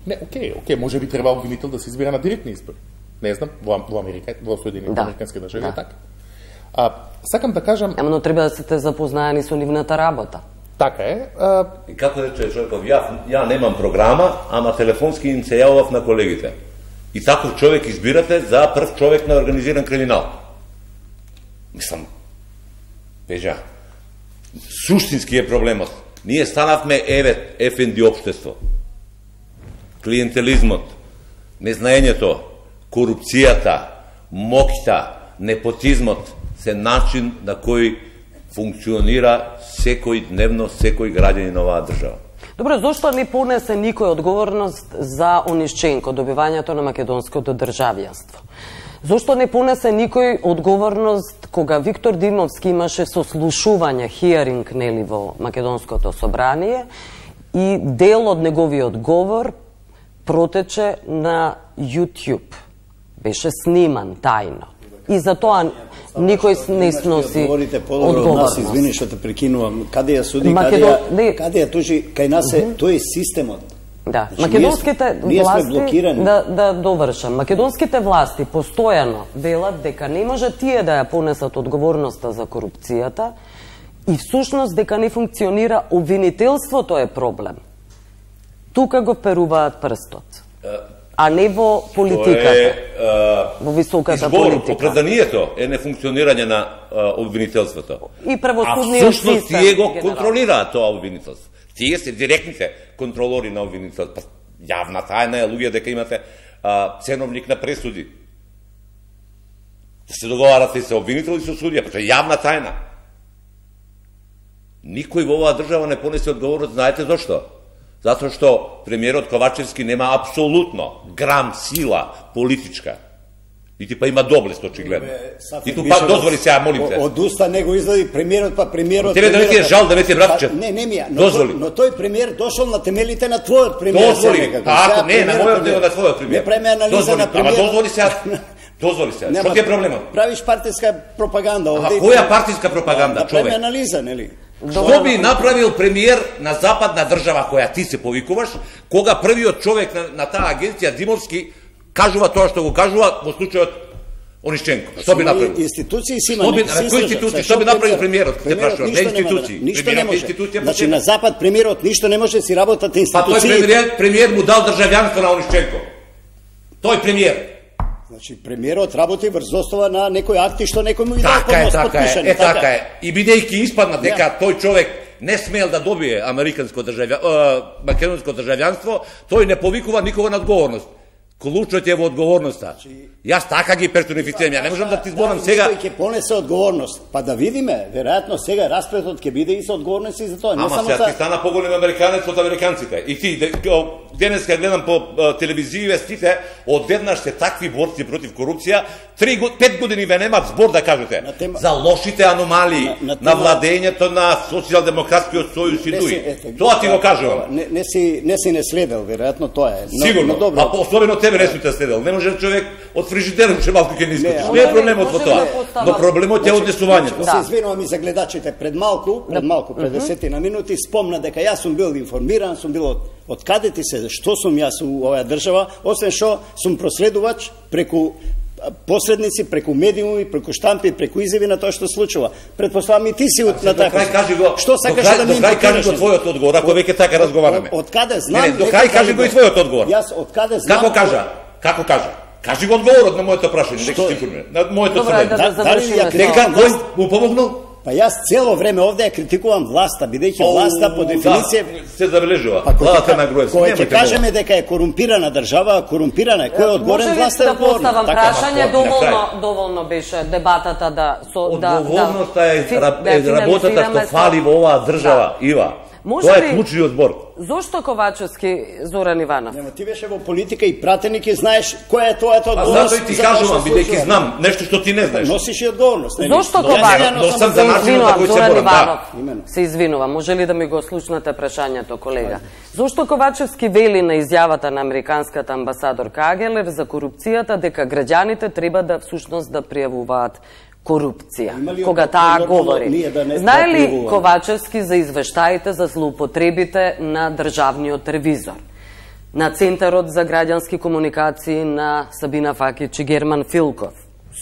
Не, окей, окей, може би треба обвинител да се избира на директни избори. Не знам, во, во Америка, во Соединетите Да. Американски држави Да. е така. А, сакам да кажам, Ама но треба да сте запознаени со нивната работа. така е, а, И како рече човеков, ја, ја немам програма, ама телефонски им се јавав на колегите. И таков човек избирате за прв човек на организиран криминал. Мислам, Пежа, суштински е проблемот. Ние станавме еве еф ен ди општество. Клиентелизмот, незнаењето, корупцијата, моќта, непотизмот се начин на кој функционира секој дневно, секој граѓанин на оваа држава. Добро, зошто не понесе никој одговорност за Онишченко, добивањето на македонското државјанство? Зошто не понесе никој одговорност кога Виктор Димовски имаше сослушување, хиеринг, нели, во Македонското собрание и дел од неговиот говор протече на YouTube. Беше сниман тајно. И за тоа никој не сноси Говорите подобро од нас, одговорност. извини што те прекинувам. Каде ја суди, Македон- каде не. ја, каде ја тужи, кај нас е, тој е системот. Да, Значи, македонските ние сме- ние сме власти, блокирани. да, да довршам, македонските власти постојано велат дека не може тие да ја понесат одговорноста за корупцијата и всушност дека не функционира обвинителството е проблем. Тука го перуваат прстот, а не во политиката, Тоа е, а, во високата избор, политика. Оправданието е нефункционирање на а, обвинителството. И А правосудниот всушност систем. тие го генерално. контролираат тоа обвинителство. Тие се директните контролори на обвинителство. Јавна тајна е, луѓе, дека имате а, ценовник на пресуди. Да се договарате и се обвинител и со судија, па тоа е јавна тајна. Никој во оваа држава не понесе одговорност, знаете зошто? Затоа што премиерот Ковачевски нема апсолутно грам сила политичка. Нити па има доблест, очигледно. И ту па дозволи се, молим те. Од уста него излади премиерот, па премиерот... Тебе да не ти е жал да не ти е братчет? Не, не ми ја. Но, Дозволи. но тој премиер дошол на темелите на твојот премиер. Дозволи. се некако. Па ако Сега не, на премиерот мојот него на твојот премиер. Не преме анализа Дозволи. на премиер. Ама дозволи се. Дозволи се. Што ти е проблемот? Правиш партиска пропаганда Ама овде. која партиска пропаганда, Да преме човек? анализа, нели? Што би направил премиер на западна држава која ти се повикуваш, кога првиот човек на, на таа агенција Димовски кажува тоа што го кажува во случајот Онишченко? Што би направил? Институции си има. Што би, не- се кои слушам. институции? Сега, Што би премиер- направил премиерот? Те премиерот прашувам, не ништо нема да- институции. Ништо не Премиерот е може. институција по Значи себе. на запад премиерот ништо не може да си работат Па тој институции. премиер, премиер му дал државјанство на Онишченко. Тој премиер. Значи премиерот работи врз основа на некои акти што некој му ги дал Така е, така е, подпишани. е така е. И бидејќи испадна дека тој човек не смел да добие американско државјанство, македонско државјанство, тој не повикува никога на одговорност. Клучот е во одговорноста. Јас така ги персонифицирам, ја не можам да ти зборам сега. Кој ќе понесе одговорност? Па да видиме, веројатно сега распретот ќе биде и со одговорност и за тоа, не Ама само сега ти за стана поголем американец од американците. И ти, де- као, денес ќе гледам по а, телевизија вестите, одеднаш се такви борци против корупција, три, го- пет години ве немат збор да кажете На тема- за лошите аномалии На- на на, тема- владењето на социјалдемократскиот сојуз и Не дуи. си- ете, Тоа ти го да, кажувам. Не, не си не си не следел, веројатно тоа е. Но, Сигурно, но добро. а по- особено тебе не сум те следел. Не може човек од фрижидерот ше малку ќе не искочиш. Не, Не е ама- проблемот во може тоа. да постава- Но проблемот е однесувањето. Се извинувам и за гледачите пред малку, пред малку, пред десетина минути, спомна дека јас сум бил информиран, сум бил од, од каде ти се, што сум јас у оваа држава, освен што сум проследувач преку а, посредници, преку медиуми, преку штампи, преку изјави на тоа што случува. Предпоставам и ти си од на До така. крај кажи го. Што до сакаш крај- да ми До крај кажи го импутираш? твојот одговор, ако веќе така разговараме. Од, од каде знам? Не, не, до дека крај кажи го и твојот одговор. Јас од каде знам? Како кажа? Како кажа? Кажи го одговорот на моето прашање, нека се информира. На моето Добро, да, да завршиме. Нека кој му помогнал? Па јас цело време овде ја критикувам власта, бидејќи власта по дефиниција да, се забележува. Па владата на Груевски. Кој ќе кажеме дека е корумпирана држава, корумпирана е, кој е одговорен, власта е одговорна. Може ли да поставам прашање, доволно доволно беше дебатата да со да одговорноста е работата што фали во оваа држава, Ива. Тоа е клучниот збор. Зошто Ковачевски, Зоран Иванов? Нема, ти беше во политика и пратеник и знаеш која е тоа тоа одговорност. А затоа и ти кажувам, бидејќи знам нешто што ти не знаеш. Носиш и одговорност. Зошто Ковачевски? Се извинувам, Зоран Иванов. Се извинувам, може ли да ми го слушнете прашањето, колега? Зошто Ковачевски вели на изјавата на американската амбасадорка Агелев за корупцијата дека граѓаните треба да всушност да пријавуваат корупција, кога таа говори. Да Знае ли Ковачевски за извештаите за злоупотребите на државниот ревизор, на Центарот за граѓански комуникации на Сабина Факич и Герман Филков?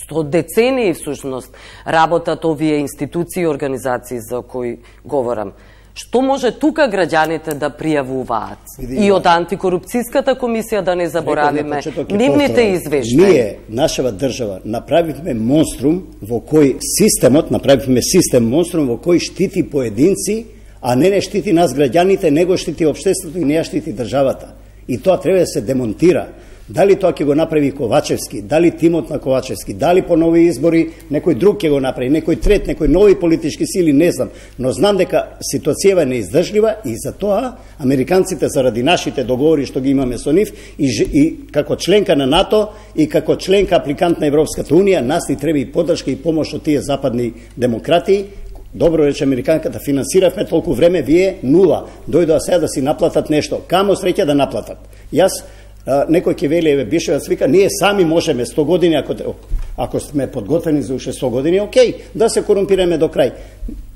Сто децении всушност работат овие институции и организации за кои говорам. Што може тука граѓаните да пријавуваат? И од антикорупцијската комисија да не заборавиме нивните извештаи. Ние, нашава држава, направивме монструм во кој системот, направивме систем монструм во кој штити поединци, а не не штити нас граѓаните, него штити општеството и не ја штити државата. И тоа треба да се демонтира. Дали тоа ќе го направи Ковачевски, дали тимот на Ковачевски, дали по нови избори некој друг ќе го направи, некој трет, некој нови политички сили, не знам. Но знам дека ситуацијава е неиздржлива и за тоа американците заради нашите договори што ги имаме со нив и, и како членка на НАТО и како членка апликант на Европската унија, нас ни треба и поддршка и помош од тие западни демократии. Добро рече американката, финансиравме толку време, вие нула. Дојдоа сега да си наплатат нешто. Камо среќа да наплатат. Јас некој ќе вели, еве Бишевец вика, ние сами можеме сто години, ако, ако сме подготвени за уште сто години, окей, да се корумпираме до крај.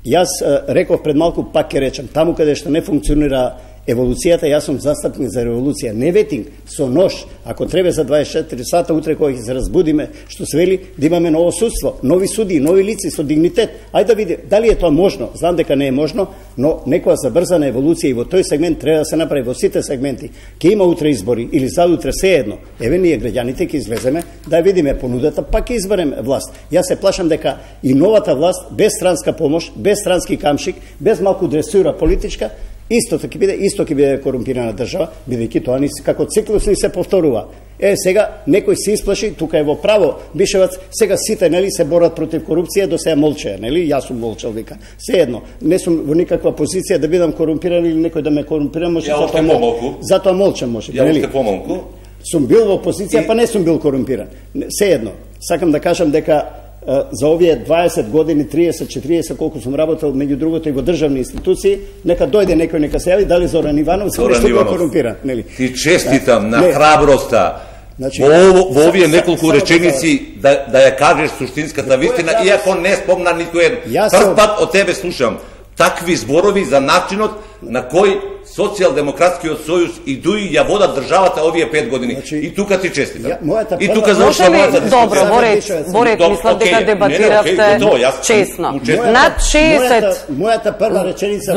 Јас реков пред малку, пак ќе речем, таму каде што не функционира еволуцијата, јас сум застапник за револуција. Не ветинг, со нож, ако треба за дваесет и четири сата, утре кога ќе се разбудиме, што се вели, да имаме ново судство, нови суди, нови лици со дигнитет. Ајде да види, дали е тоа можно? Знам дека не е можно, но некоја забрзана еволуција и во тој сегмент треба да се направи во сите сегменти. Ке има утре избори или задутре се едно. Еве ние граѓаните ќе излеземе да видиме понудата, пак ќе изберем власт. Јас се плашам дека и новата власт без странска помош, без странски камшик, без малку дресура политичка, исто ќе биде, исто ќе биде корумпирана држава, бидејќи тоа ни како циклус ни се повторува. Е, сега некој се исплаши, тука е во право, Бишевац, сега сите нели се борат против корупција, до сега молчеа, нели? Јас сум молчал, вика. Се едно, не сум во никаква позиција да бидам корумпиран или некој да ме корумпира, може затоа мол... затоа молчам, може. Ја уште помалку. Сум бил во позиција, и... па не сум бил корумпиран. Се едно, сакам да кажам дека за овие дваесет години, триесет, четириесет, колку сум работел, меѓу другото и во државни институции, нека дојде некој, нека се јави, дали Зоран Иванов се нешто бил корумпиран, нели? Ти честитам на храброста во, во овие неколку реченици да, да ја кажеш суштинската вистина, иако не спомна никој еден. Прв пат од тебе слушам такви зборови за начинот на кој Социјалдемократскиот сојуз и ДУИ ја водат државата овие пет години. Значи, и тука ти честитам. И тука завршува мојата дискусија. Добро, Борец, Борец, мислам дека дебатиравте честно. Над шеесет Мојата прва реченица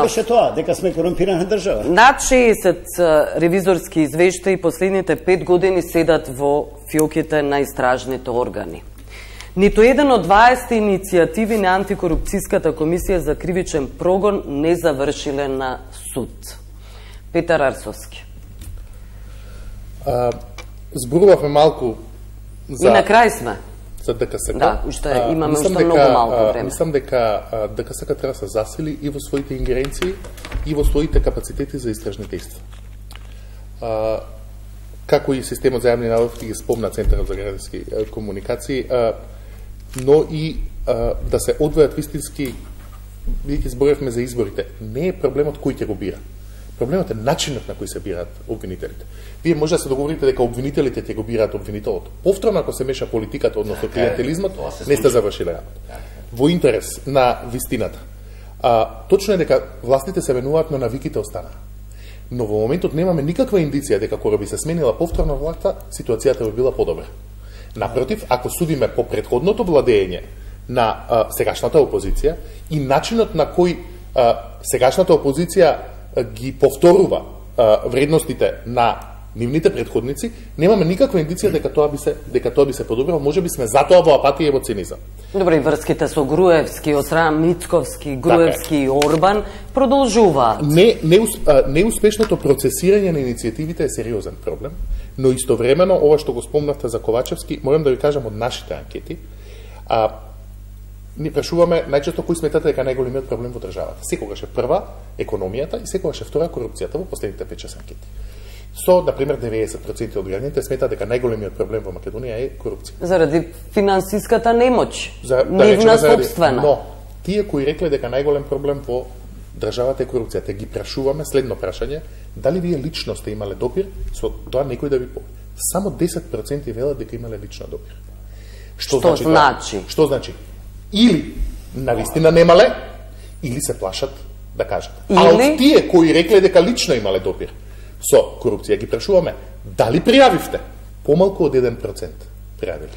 беше тоа, дека сме корумпирана држава. Над шеесет ревизорски извештаи последните пет години седат во фиоките на истражните органи. Ниту еден од дваесет иницијативи на антикорупцијската комисија за кривичен прогон не завршиле на суд. Петар Арсовски. А, зборувавме малку за... И на крај сме. За ДКСК. Да, уште имаме уште дека, многу малку време. Мислам дека ДКСК треба да се засили и во своите ингеренции и во своите капацитети за истражни действия. А, како и системот за јавни набавки ги спомна Центарот за граѓански комуникации, а, но и а, да се одвојат вистински, бидејќи зборевме за изборите, не е проблемот кој ќе го бира. Проблемот е начинот на кој се бираат обвинителите. Вие може да се договорите дека обвинителите ќе го бираат обвинителот. Повторно, ако се меша политиката, односно клиентелизмот, не сте завршиле работа. Во интерес на вистината. А, точно е дека властите се менуваат, но навиките останаа. Но во моментот немаме никаква индиција дека кога би се сменила повторно власта, ситуацијата би била подобра. Напротив, ако судиме по претходното владење на а, сегашната опозиција и начинот на кој а, сегашната опозиција а, ги повторува а, вредностите на нивните претходници, немаме никаква индиција дека тоа би се дека тоа би се подобрило, можеби сме затоа во апатија и во цинизам. Добре, и врските со Груевски, од страна Мицковски, Груевски и Орбан продолжуваат. Не, не, неуспешното процесирање на иницијативите е сериозен проблем, но истовремено ова што го спомнавте за Ковачевски, морам да ви кажам од нашите анкети, а, ни прашуваме најчесто кој сметате дека најголемиот проблем во државата. Секогаш е прва економијата и секогаш е втора корупцијата во последните пет-шест анкети. Со, например, деветдесет проценти од граѓаните сметаат дека најголемиот проблем во Македонија е корупција. Заради финансиската немоќ, За, да нивна заради, собствена. Но, тие кои рекле дека најголем проблем во државата е корупцијата, ги прашуваме следно прашање, дали вие лично сте имале допир со тоа некој да ви поведе. Само десет проценти велат дека имале лично допир. Што, Што значи? значи? Това? Што значи? Или навистина немале, или се плашат да кажат. Или... А од тие кои рекле дека лично имале допир со корупција, ги прашуваме, дали пријавивте? Помалку од еден процент пријавиле.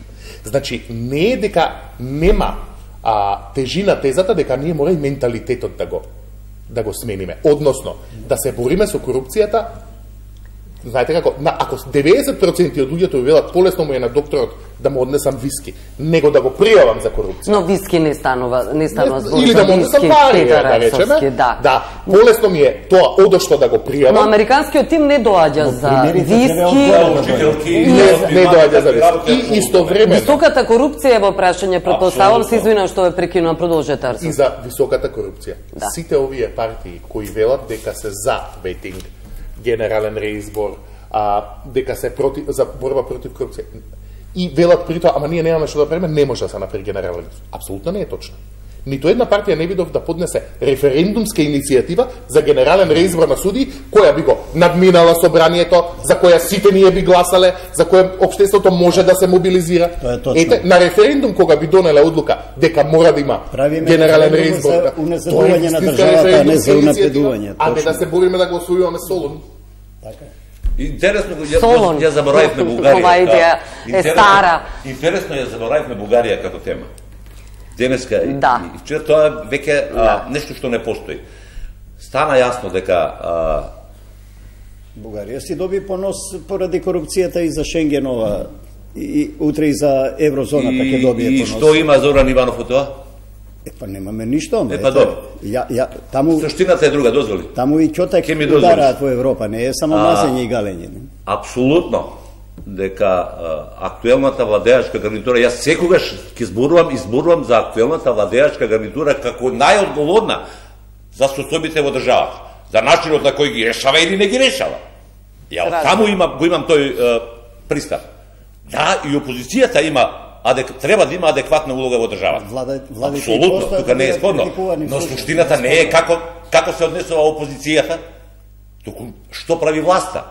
Значи, не е дека нема а, тежина тезата дека ние мора и менталитетот да го да го смениме. Односно, да се бориме со корупцијата. Знаете како, на, ако деветдесет проценти од луѓето велат полесно му е на докторот да му однесам виски, него да го пријавам за корупција. Но виски не станува, не станува збор или за да му однесам виски, пари, Петар да речеме. Рацовски, да. Да, полесно ми е тоа одошто да го пријавам. Но американскиот тим не доаѓа за виски. Не, не доаѓа за виски. И истовремено Високата корупција е во прашање, претпоставам, се извинам што ве прекинувам, продолжете Арсен. и за високата корупција. Да. Сите овие партии кои велат дека се за ветинг, генерален реизбор, а, дека се против, за борба против корупција, и велат при тоа, ама ние немаме што да правиме, не може да се направи генерален реизбор. Апсолутно не е точно. Нито една партија не видов да поднесе референдумска иницијатива за генерален реизбор на суди, која би го надминала собранието, за која сите ние би гласале, за која општеството може да се мобилизира. Тоа е точно. Ете, на референдум кога би донеле одлука дека мора да има Правиме генерален референдум реизбор, за да, уназадување на тоа е државата, а не за референдумска унапредување, иницијатива, а не точно. да се бориме да гласуваме Солун. Така е. Интересно, ја, Солон. ја заборавивме Бугарија. Ова идеја е Интересно- стара. Интересно ја заборавивме Бугарија като тема. Денеска и- Да. и вчера тоа веќе а, нешто што не постои. Стана јасно дека а, Бугарија си доби понос поради корупцијата и за Шенгенова и, и утре и за еврозоната ќе и, добие и понос. што има Зоран Иванов од тоа? Е, па немаме ништо. ама, Е, па ете, добро. Ја, ја, таму, Суштината е друга, дозволи. таму и ќотак Ке ми дозволиш? удараат во Европа, не е само А, мазење и галење. Не? Апсолутно дека а, актуелната владеачка гарнитура, јас секогаш ќе зборувам и зборувам за актуелната владеачка гарнитура како најодговорна за состојбите во државата, за начинот на кој ги решава или не ги решава. Ја Разбирам. таму има, го имам тој е, пристав. Да, и опозицијата има адек, треба да има адекватна улога во државата. Влада- владите Апсолутно, постојат тука да не е бидат спорно. критикувани, Но слушам, суштината не е не е спорно. како како се однесува опозицијата, туку што прави власта.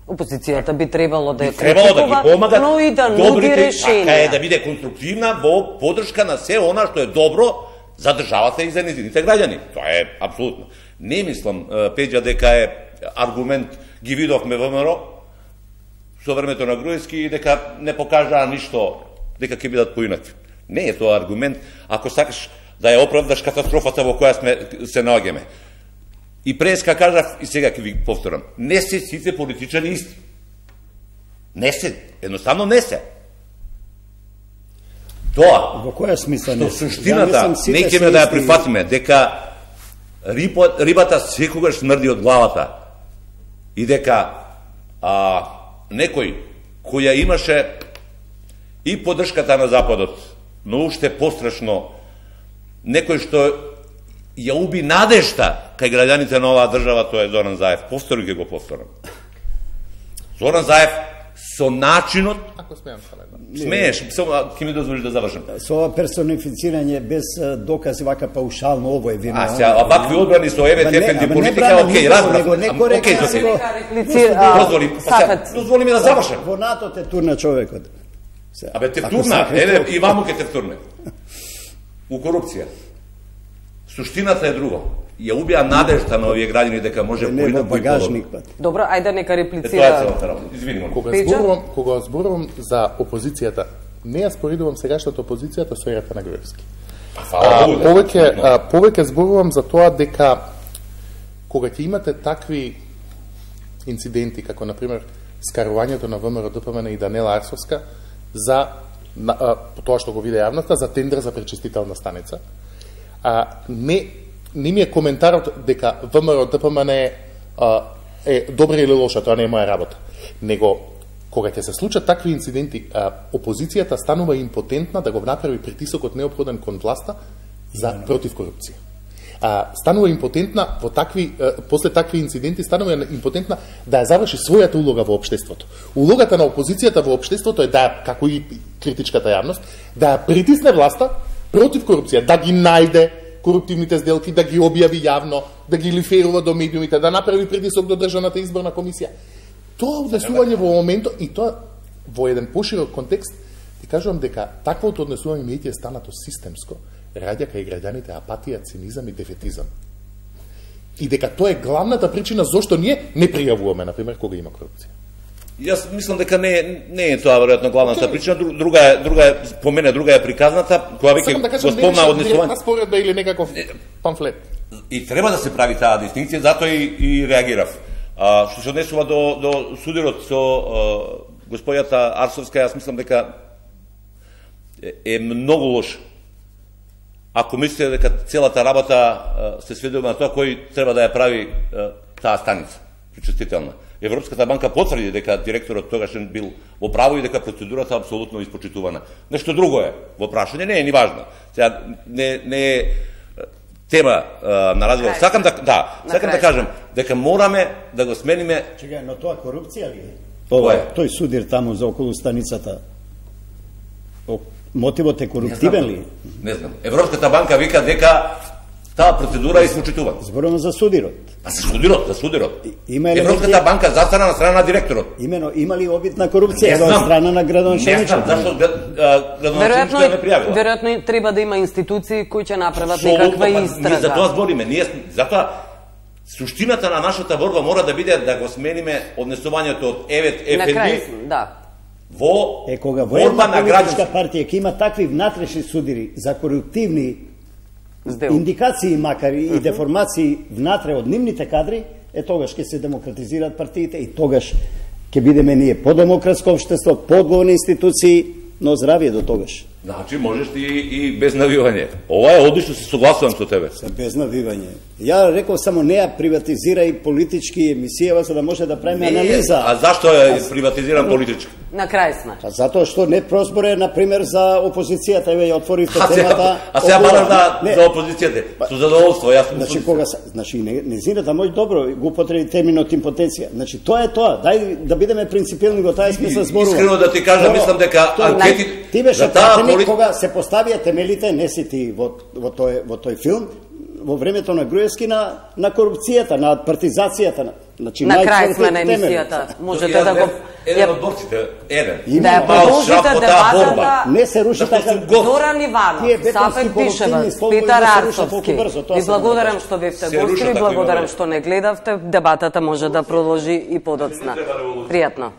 Опозицијата би требало да ја Требало да ги критикува, помагат но и да нуди добрите, така е решенија. да биде конструктивна во подршка на се она што е добро за државата и за незините граѓани. Тоа е апсолутно. Не мислам, е, Пеđа, дека е аргумент ги видовме во ВМРО со времето на Груевски и дека не покажаа ништо, дека ќе бидат поинакви. Не е тоа аргумент ако сакаш да ја оправдаш катастрофата во која сме се наоѓаме. И преска кажав и сега ќе ви повторам, не се сите политичари исти. Не се, едноставно не се. Тоа, Во која смисла не? што суштината, мислам, сите не се ќе да ја исти. прифатиме, дека риба, рибата секогаш смрди од главата и дека а, некој кој ја имаше и поддршката на Западот, но уште пострашно, некој што ја уби надежта кај граѓаните на оваа држава, тоа е Зоран Заев. Повтори ќе го повторам. Зоран Заев со начинот, Ако смеам само една. смееш, само ќе ми дозволиш да завршам. Со ова персонифицирање без а, докази, вака паушално, ово е вина. А сега, вакви одбрани со Еве Ама не- Тефенди ама не политика, бранам окей, никого, разбрав. него не Ам, коректно, окей, Зофија. него- Реплицира, Дозволи, па сега, Сафет. дозволи ми да завршам. Во НАТО те турна човекот. Се, Абе, те ако втурна, сакаш, еве, то- и ваму ке те втурне. У корупција. Суштината е друго. Ја убија надежта на овие граѓани дека може не во поинакво и багажник подобро. пат. Добро, ајде нека Е, тоа е реплицира. целата работа. Извини, моlim. Кога Пеđa? зборувам, кога зборувам за опозицијата, не ја споредувам сегашната опозицијата со ерата на Груевски. Па, А, фала Богу, да. повеќе, а, повеќе зборувам за тоа дека кога ќе имате такви инциденти, како например скарувањето на ВМРО Д П М Н и Данела Арсовска за на, а, по тоа што го виде јавноста за тендер за пречистителна станица. А, не, не ми е коментарот дека ВМРО Д П М Н е, а, е добра или лоша, тоа не е моја работа. Него, кога ќе се случат такви инциденти, а, опозицијата станува импотентна да го направи притисокот неопходен кон власта за против корупција. А, станува импотентна во такви, а, после такви инциденти, станува импотентна да ја заврши својата улога во општеството. Улогата на опозицијата во општеството е да ја, како и критичката јавност, да ја притисне власта против корупција, да ги најде коруптивните сделки, да ги објави јавно, да ги лиферува до медиумите, да направи притисок до државната изборна комисија. Тоа однесување во моментот, и тоа во еден поширок контекст, ти кажувам дека таквото однесување медија станато системско, раѓа кај граѓаните апатија, цинизам и дефетизам. И дека тоа е главната причина зошто ние не пријавуваме, например, кога има корупција. Јас мислам дека не не е тоа веројатно главната okay. причина, друга е друга е по мене друга е приказната, која веќе да го спомна однесување. Споредба или некаков памфлет. И треба да се прави таа дистинкција, затоа и, и реагирав. А, што се однесува до, до судирот со а, господјата Арсовска, јас мислам дека е, е многу лош. Ако мислите дека целата работа а, се сведува на тоа кој треба да ја прави а, таа станица пречистителна. Европската банка потврди дека директорот тогашен бил во право и дека процедурата апсолутно испочитувана. Нешто друго е во прашање, не е ни важно. Сега не не е тема а, на разговор. Сакам да да, сакам да кажам дека мораме да го смениме. Чекај, но тоа корупција ли е? Ова е тој судир таму за околу станицата. Мотивот е коруптивен ли? Не знам. Европската банка вика дека таа процедура е испочитувана. Зборувам за судирот. А за судирот, за судирот. Има Европската елементи... банка застана на страна на директорот. Имено, има ли обид на корупција од страна на градоначелникот? Не знам, зашто градоначелникот не пријавила. Веројатно треба да има институции кои ќе направат некаква истрага. Ние за тоа збориме, ние затоа суштината на нашата борба мора да биде да го смениме однесувањето од Евет Еф Ен Би. Да. Во е кога во една политичка партија ќе има такви внатрешни судири за коруптивни Сдел. индикации, макар и uh-huh. деформации внатре од нивните кадри, е тогаш ќе се демократизираат партиите и тогаш ќе бидеме ние подемократско општество, подговорни институции, но здравие до тогаш. Значи можеш ти и без навивање. Ова е одлично, се согласувам со тебе. Се без навивање. Ја реков само не ја приватизирај политички емисијава за да може да правиме анализа. А зашто ја приватизирам политички? На крај сме. А затоа што не прозборе на пример за опозицијата, еве ја отворивте темата. А сега бараш да за опозицијата. Со задоволство, јас. Значи кога значи незината мој добро го употреби терминот импотенција. Значи тоа е тоа. Дај да бидеме принципилни во таа смисла зборува. Искрено да ти кажам, мислам дека анкети ти беше пратеник кога се поставија темелите, не си ти во во тој во тој филм во времето на Груевски на на корупцијата, на партизацијата, на значи на крај сме на емисијата. Можете да го еден од борците, еден. Да ја продолжите дебатата. Не се руши така. Зоран Иванов, Сафет Бишеваc, Петар Арсовски. Ви благодарам што бевте гости, ви благодарам што не гледавте. Дебатата може да продолжи и подоцна. Пријатно.